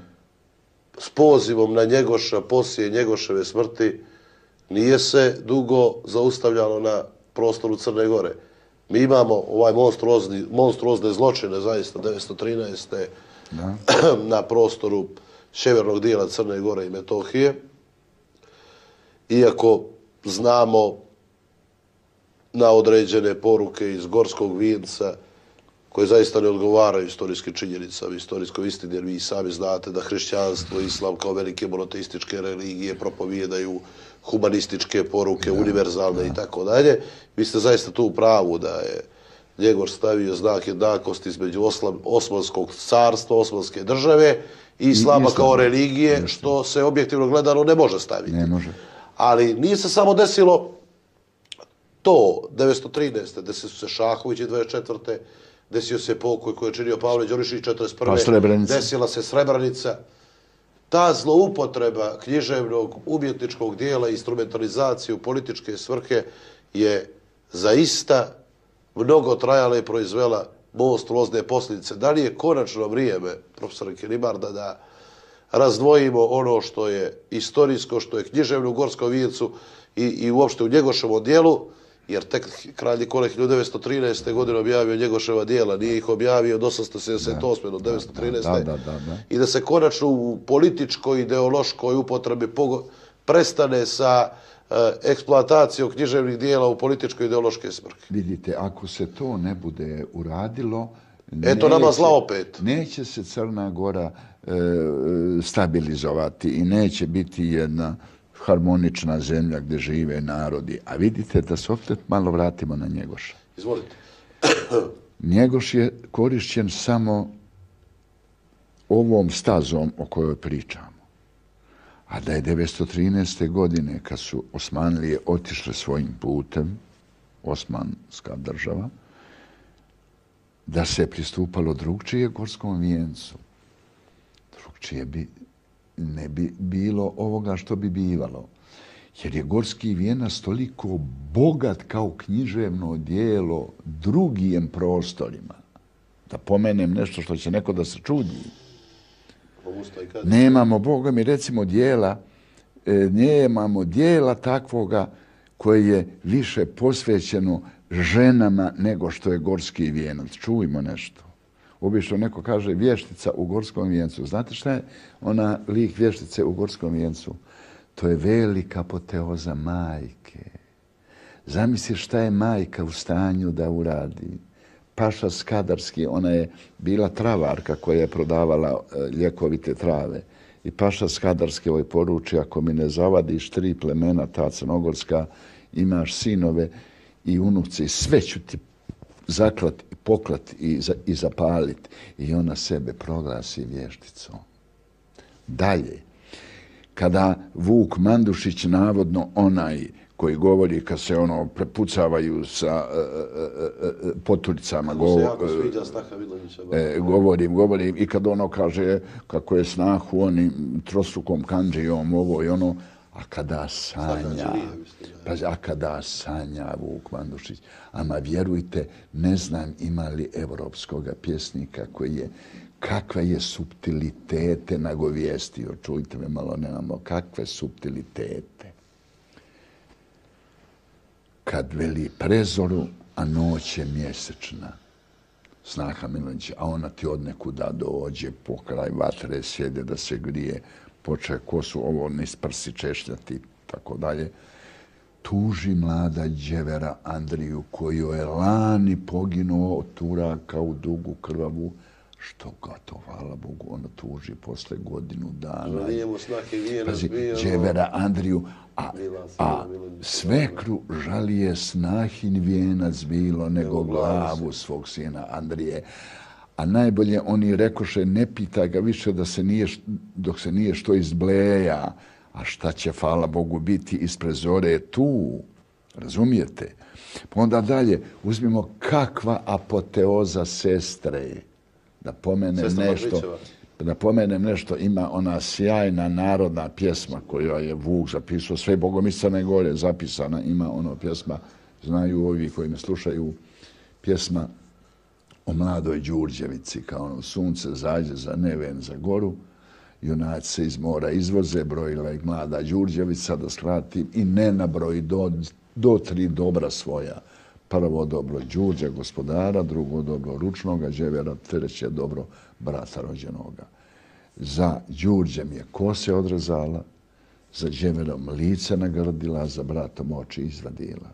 S pozivom na Njegoša poslije Njegoševe smrti nije se dugo zaustavljalo na prostoru Crne Gore. Mi imamo ovaj monstruozni, monstruozne zločine zaista devetsto trinaeste. Da. Na prostoru sjevernog dijela Crne Gore i Metohije. Iako znamo na određene poruke iz Gorskog vijenca koje zaista ne odgovaraju istorijskim činjenicama, istorijskoj istini, jer vi sami znate da hrišćanstvo i islam kao velike monoteističke religije propovijedaju humanističke poruke, da, univerzalne da. I tako dalje. Vi ste zaista tu u pravu da je Njegoš stavio znak jednakosti između Oslam, Osmanskog carstva, Osmanske države i islama kao religije, Islam. Što se objektivno gledano ne može staviti. Ne može. Ali nije se samo desilo to devetsto trinaeste. Desio se Šahović dvadeset četvrte. Desio se pokoj koji je činio Pavle Đurišić četrdeset prve. Pa desila se Srebrenica. Ta zloupotreba književnog umjetničkog dijela i instrumentalizacije u političke svrhe je zaista mnogo trajala i proizvela monstruozne posljedice. Da li je konačno vrijeme, profesor Kilibarda, da razdvojimo ono što je istorijsko, što je književno u Gorskom vijencu i, i uopšte u Njegoševom dijelu, jer tek kralj Nikole hiljadu devetsto trinaeste. godine objavio Njegoševa dijela, nije ih objavio od osamsto sedamdeset osme. do devetsto trinaeste. Da, da, da, da. I da se konačno u političkoj, ideološkoj upotrebi prestane sa uh, eksploatacijom književnih dijela u političko-ideološke svrhe. Vidite, ako se to ne bude uradilo, eto nama zla opet. Neće se Crna Gora e, stabilizovati i neće biti jedna harmonična zemlja gdje žive narodi. A vidite da se opet malo vratimo na Njegoša. Izvolite. Njegoš je korišćen samo ovom stazom o kojoj pričamo. A da je devetsto trinaeste. godine, kad su Osmanlije otišle svojim putem, Osmanska država, da se pristupalo drugčije Gorskom vijencu. Drugčije bi ne bi bilo ovoga što bi bivalo. Jer je Gorski vijenac toliko bogat kao književno dijelo drugim prostorima. Da pomenem nešto što će neko da se čudi. Nemamo, Boga mi, recimo dijela, nemamo dijela takvoga koje je više posvećeno ženama nego što je Gorski vijenac. Čujmo nešto. Obično neko kaže vještica u Gorskom vijencu. Znate šta je ona lik vještice u Gorskom vijencu? To je velika apoteoza majke. Zamisli šta je majka u stanju da uradi. Paša Skadarski, ona je bila travarka koja je prodavala ljekovite trave. I Paša Skadarski ovoj poruči, ako mi ne zavadiš tri plemena, ta crnogorska, imaš sinove i unuci, sve ću ti zaklat i poklat i, za, i zapalit. I ona sebe proglasi vješticom. Dalje, kada Vuk Mandušić, navodno onaj koji govori kad se ono prepucavaju sa uh, uh, poturicama, go, jako sviđa Staha Vidovića, e, govorim, govorim, i kad ono kaže kako je snahu onim trostrukom kanđijom, ovo i ono, a kada sanja, pa, a kada sanja Vuk Mandušić, ama vjerujte, ne znam ima li evropskog pjesnika koji je kakve je suptilitete nagovijestio. Čujte me malo, nemamo kakve suptilitete. Kad veli prezoru, a noć je mjesečna. Snaha Milanić, a ona ti od nekuda dođe, po kraj vatre sjede da se grije, poče kosu ovo niz prsi češljati, tako dalje. Tuži mlada đevera Andriju, koju je lani poginuo od Turaka u dugu krvavu, što ga to, hvala Bogu, ona tuži posle godinu dana. Pazi, đevera Andriju, a, a svekru žalije snahin vijenac bilo nego glavu svog sina Andrije. A najbolje oni rekoše, ne pita ga više da se nije, dok se nije što izbleja, a šta će, hvala Bogu, biti ispred zore tu. Razumijete? Pa onda dalje, uzmimo kakva apoteoza sestre. Da pomenem nešto, da pomenem nešto, ima ona sjajna narodna pjesma koju je Vuk zapisao, sve Bogomiscane gore zapisana, ima ono pjesma, znaju ovi koji me slušaju, pjesma o mladoj Đurđevici, kao ono sunce zađe za neven za goru, junaci se iz mora izvoze, brojila je mlada Đurđevica, da skratim, i ne nabroji do, do tri dobra svoja. Prvo dobro Đurđa, gospodara, drugo dobro ručnoga đevera, treće dobro brata rođenoga. Za Đurđem je kose odrezala, za đeverom lice nagrdila, za bratom oči izvadila.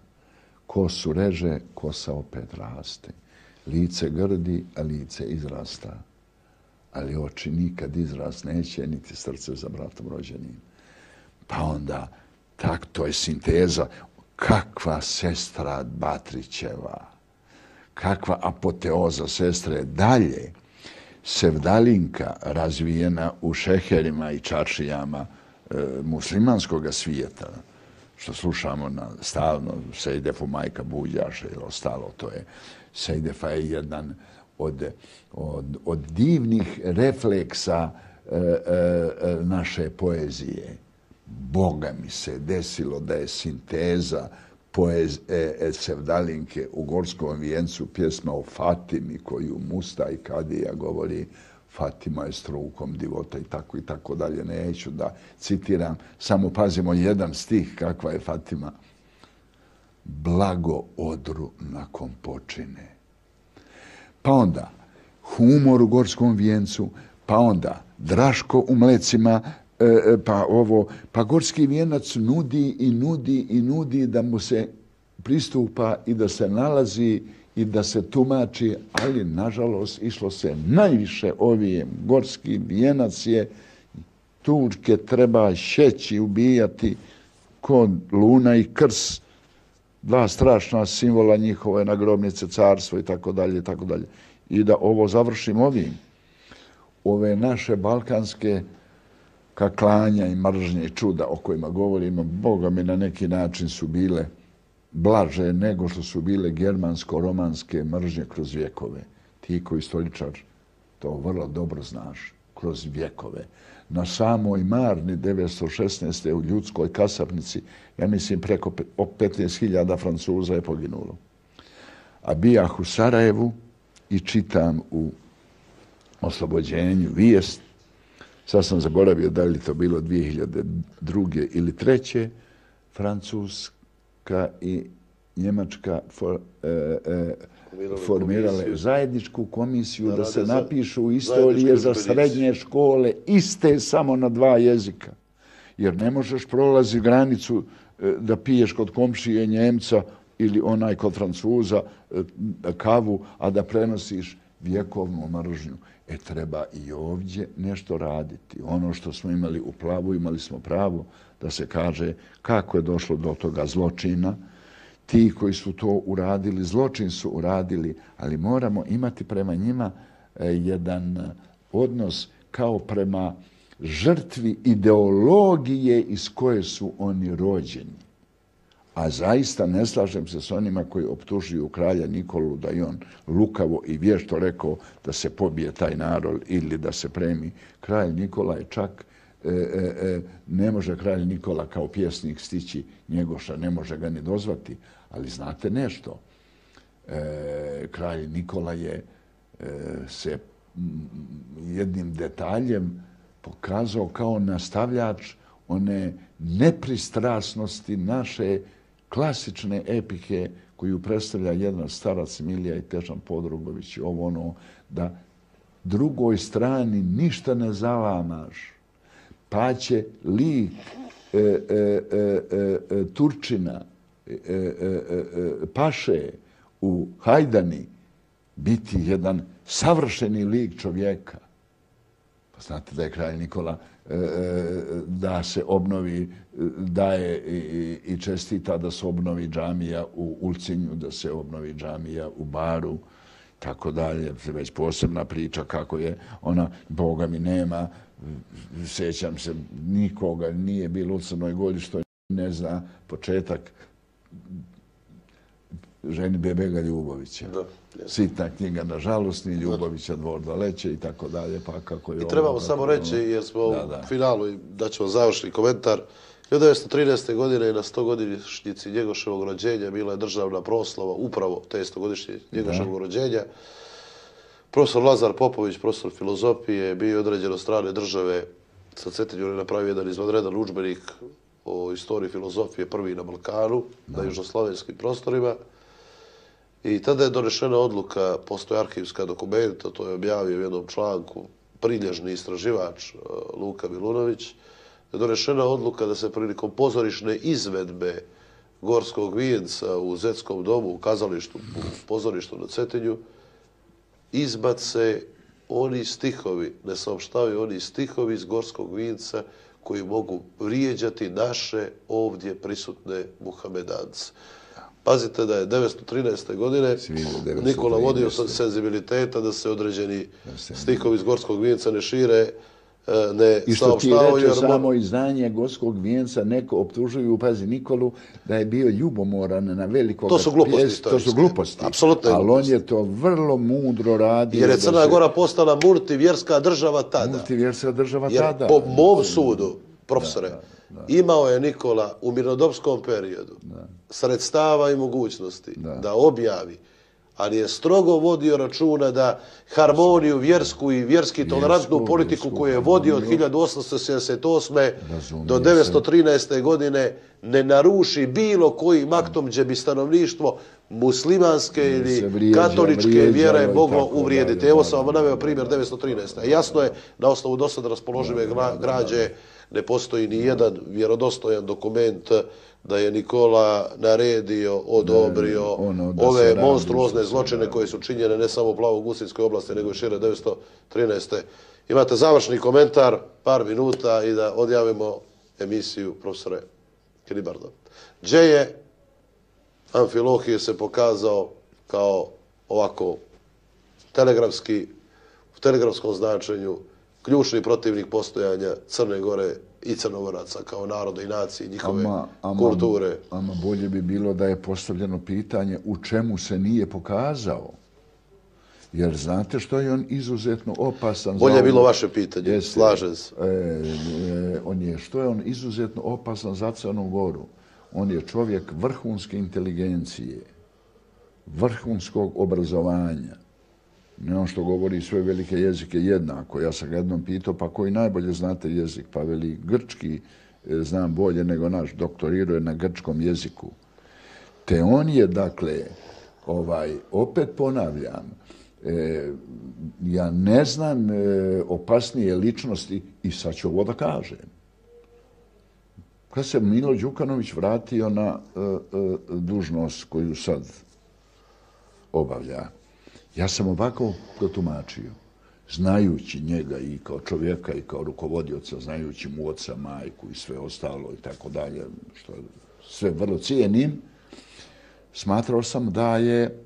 Kosu reže, kosa opet raste. Lice grdi, a lice izrasta. Ali oči nikad izrast neće, niti srce za bratom rođenim. Pa onda, tak, to je sinteza. Kakva sestra Batrićeva, kakva apoteoza sestre. Dalje, Sevdalinka razvijena u šeherima i čaršijama e, muslimanskog svijeta, što slušamo na stalno, Sejdefu majka Buđaša ili ostalo, to je, Sejdefa je jedan od, od, od divnih refleksa e, e, naše poezije. Boga mi se desilo da je sinteza poez, e, e, Sevdalinke u Gorskom vijencu pjesma o Fatimi koju Musta i Kadija govori, Fatima je strukom divota i tako i tako dalje. Neću da citiram, samo pazimo jedan stih kakva je Fatima. Blago odru nakon počine. Pa onda humor u Gorskom vijencu, pa onda Draško u Mlecima, pa ovo, pa Gorski vijenac nudi i nudi i nudi da mu se pristupa i da se nalazi i da se tumači, ali nažalost išlo se najviše ovijem. Gorski vijenac je, Turke treba šeći, ubijati kod Luna i Krs, dva strašna simbola njihove nagrobnice, carstvo i tako dalje i tako dalje. I da ovo završim ovim. Ove naše balkanske kaklanja i mržnje i čuda o kojima govorimo, Boga mi na neki način su bile blaže nego što su bile germansko-romanske mržnje kroz vjekove. Ti koji istoričar to vrlo dobro znaš, kroz vjekove. Na samoj Marni devetsto šesnaeste. u ljudskoj kasapnici, ja mislim preko petnaest hiljada Francuza je poginulo. A bijah u Sarajevu i čitam u Oslobođenju vijest, sad sam zaboravio da li to bilo dvije hiljade druge ili treće, Francuska i Njemačka for, e, e, formirale zajedničku komisiju da, da se napišu istorije za srednje škole iste samo na dva jezika. Jer ne možeš prolazi granicu e, da piješ kod komšije Njemca ili onaj kod Francuza e, kavu, a da prenosiš vjekovnu mržnju. E, treba i ovdje nešto raditi. Ono što smo imali u Plavu, imali smo pravo da se kaže kako je došlo do toga zločina. Ti koji su to uradili, zločin su uradili, ali moramo imati prema njima jedan odnos kao prema žrtvi ideologije iz koje su oni rođeni. A zaista ne slažem se s onima koji optužuju kralja Nikolu da je on lukavo i vješto rekao da se pobije taj narod ili da se premi. Kralj Nikola je čak, e, e, ne može kralj Nikola kao pjesnik stići Njegoša, ne može ga ni dozvati. Ali znate nešto, e, kralj Nikola je e, se jednim detaljem pokazao kao nastavljač one nepristrasnosti naše klasične epike koju predstavlja jedan starac Milija i Težan Podrugović, ovo ono, da drugoj strani ništa ne zalamaš, pa će lik e, e, e, e, Turčina, e, e, e, Paše u Hajdani biti jedan savršeni lik čovjeka. Pa znate da je kralj Nikola e, da se obnovi, daje i, i čestita da se obnovi džamija u Ulcinju, da se obnovi džamija u Baru, tako dalje. Već posebna priča kako je ona, Boga mi nema, sjećam se, nikoga nije bilo u Crnoj Gori što ne zna početak ženidbe Bega Ljubovića. Da, sitna knjiga, nažalost, ni Ljubovića, Dvor Daleće i tako dalje. Pa kako je I trebamo ovo, samo reći, jer smo da, da. u finalu i daćemo završni komentar. hiljadu devetsto trinaeste. godine na stogodišnjici Njegoševog rođenja bila je državna proslava upravo te stogodišnje Njegoševog rođenja. Profesor Lazar Popović, profesor filozofije, bio je određen od strane države sa Cetinju, je napravio jedan izvanredan udžbenik o istoriji filozofije, prvi na Balkanu, da. na južnoslavenskim prostorima. I tada je donešena odluka, postoje arhivska dokumenta, to je objavio u jednom članku prilježni istraživač Luka Milunović, je donešena odluka da se prilikom pozorišne izvedbe Gorskog vijenca u Zetskom domu, u kazalištu, u pozorištu na Cetinju, izbace oni stihovi, ne saopštavaju oni stihovi iz Gorskog vijenca koji mogu vrijeđati naše ovdje prisutne muhamedance. Pazite da je devetsto trinaeste. godine Nikola vodio senzibiliteta da se određeni stihovi iz Gorskog vijenca ne šire, ne I što ti reče samo izdanje Gorskog vijenca, neko optužuju, pazi Nikolu, da je bio ljubomoran na velikog To su gluposti. Pjes, to su gluposti. Apsolutno ali on je to vrlo mudro radio. Jer je Crna se... Gora postala multivjerska država tada. Multivjerska država Jer tada. po mom sudu, profesore, da, da, da. imao je Nikola u mirnodopskom periodu da. sredstava i mogućnosti da. da objavi, ali je strogo vodio računa da harmoniju vjersku i vjerski tolerantnu vjersku, politiku vjersku, koju je vodio od hiljadu osamsto sedamdeset osme. do devetsto trinaeste. godine ne naruši bilo kojim aktom gdje bi stanovništvo muslimanske ili vrijeđa, katoličke vrijeđa, vjere moglo uvrijediti. Evo sam vam naveo primjer devetsto trinaeste. Jasno je, na osnovu dosad raspoložive građe ne postoji ni jedan vjerodostojan dokument da je Nikola naredio, odobrio ono, ove monstruozne zločine koje su činjene ne samo u Plavogusinskoj oblasti, nego i šire devetsto trinaeste. Imate završni komentar, par minuta i da odjavimo emisiju, profesore Kilibardo. Gdje je Amfilohije se pokazao kao ovako telegrafski, u telegrafskom značenju ključni protivnik postojanja Crne Gore i Crnogoraca kao naroda i nacije, njihove ama, ama, kulture. Ama bolje bi bilo da je postavljeno pitanje u čemu se nije pokazao. Jer znate što je on izuzetno opasan... Bolje za je bilo vaše pitanje, Jeste, slažem se. E, e, on je, što je on izuzetno opasan za Crnu Goru? On je čovjek vrhunske inteligencije, vrhunskog obrazovanja. Ne on što govori sve velike jezike jednako. Ja sam ga jednom pitao, pa koji najbolje znate jezik? Pa veli, grčki znam bolje nego naš, doktorirao je na grčkom jeziku. Te on je, dakle, ovaj, opet ponavljam, e, ja ne znam e, opasnije ličnosti i sad ću ovo da kažem. Kad se Milo Đukanović vratio na e, e, dužnost koju sad obavlja, ja sam ovako protumačio, znajući njega i kao čovjeka i kao rukovodioca, znajući mu oca, majku i sve ostalo i tako dalje, što sve vrlo cijenim, smatrao sam da je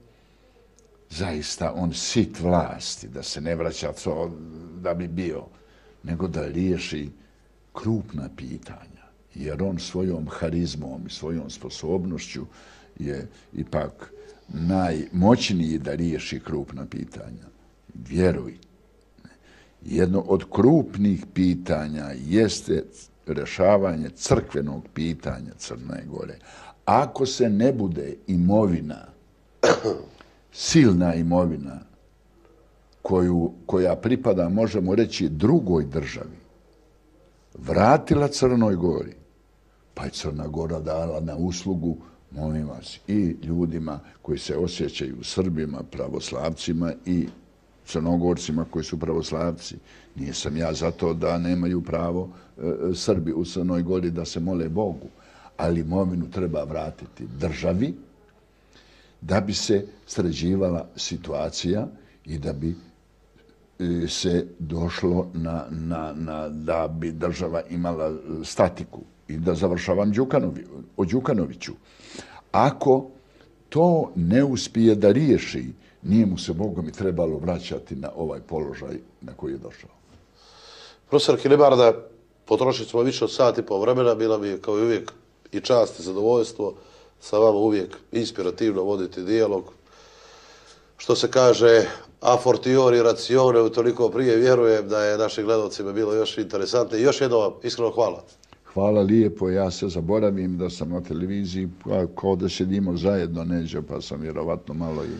zaista on sit vlasti, da se ne vraća to da bi bio, nego da riješi krupna pitanja. Jer on svojom harizmom i svojom sposobnošću je ipak najmoćniji da riješi krupna pitanja. Vjeruj. Jedno od krupnih pitanja jeste rješavanje crkvenog pitanja Crne Gore. Ako se ne bude imovina, silna imovina, koju, koja pripada, možemo reći, drugoj državi, vratila Crnoj Gori, pa je Crna Gora dala na uslugu, molim vas, i ljudima koji se osjećaju Srbima, pravoslavcima i Crnogorcima koji su pravoslavci. Nisam ja za to da nemaju pravo e, Srbi u Crnoj Gori da se mole Bogu, ali imovinu treba vratiti državi da bi se sređivala situacija i da bi e, se došlo na, na, na, da bi država imala statiku. I da završavam Đukanovi, o Đukanoviću. Ako to ne uspije da riješi, nije mu se, Bogom, i trebalo vraćati na ovaj položaj na koji je došao. Profesor Kilibarda, potrošili smo više od sat i pol vremena, bila mi je kao i uvijek i čast i zadovoljstvo sa vama uvijek inspirativno voditi dijalog. Što se kaže, a fortiori racione, utoliko prije vjerujem da je našim gledalcima bilo još interesantno. I još jedno vam iskreno hvala. Hvala lijepo, ja se zaboravim da sam na televiziji, kao da sjedimo zajedno neđe, pa sam vjerovatno malo i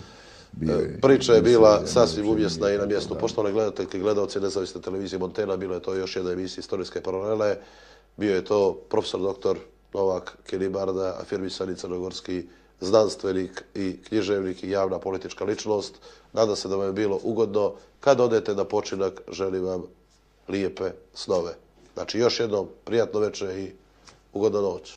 bio. Priča je bila sasvim umjesna i na mjestu. Poštovane gledateljke i gledalci nezavisne televizije Montena, bilo je to još jedna emisija Istorijske paralele. Bio je to profesor doktor Novak Kilibarda, afirmisani crnogorski znanstvenik i književnik i javna politička ličnost. Nadam se da vam je bilo ugodno. Kad odete na počinak, želim vam lijepe snove. Znači, još jednom prijatno večer i ugodnu noć.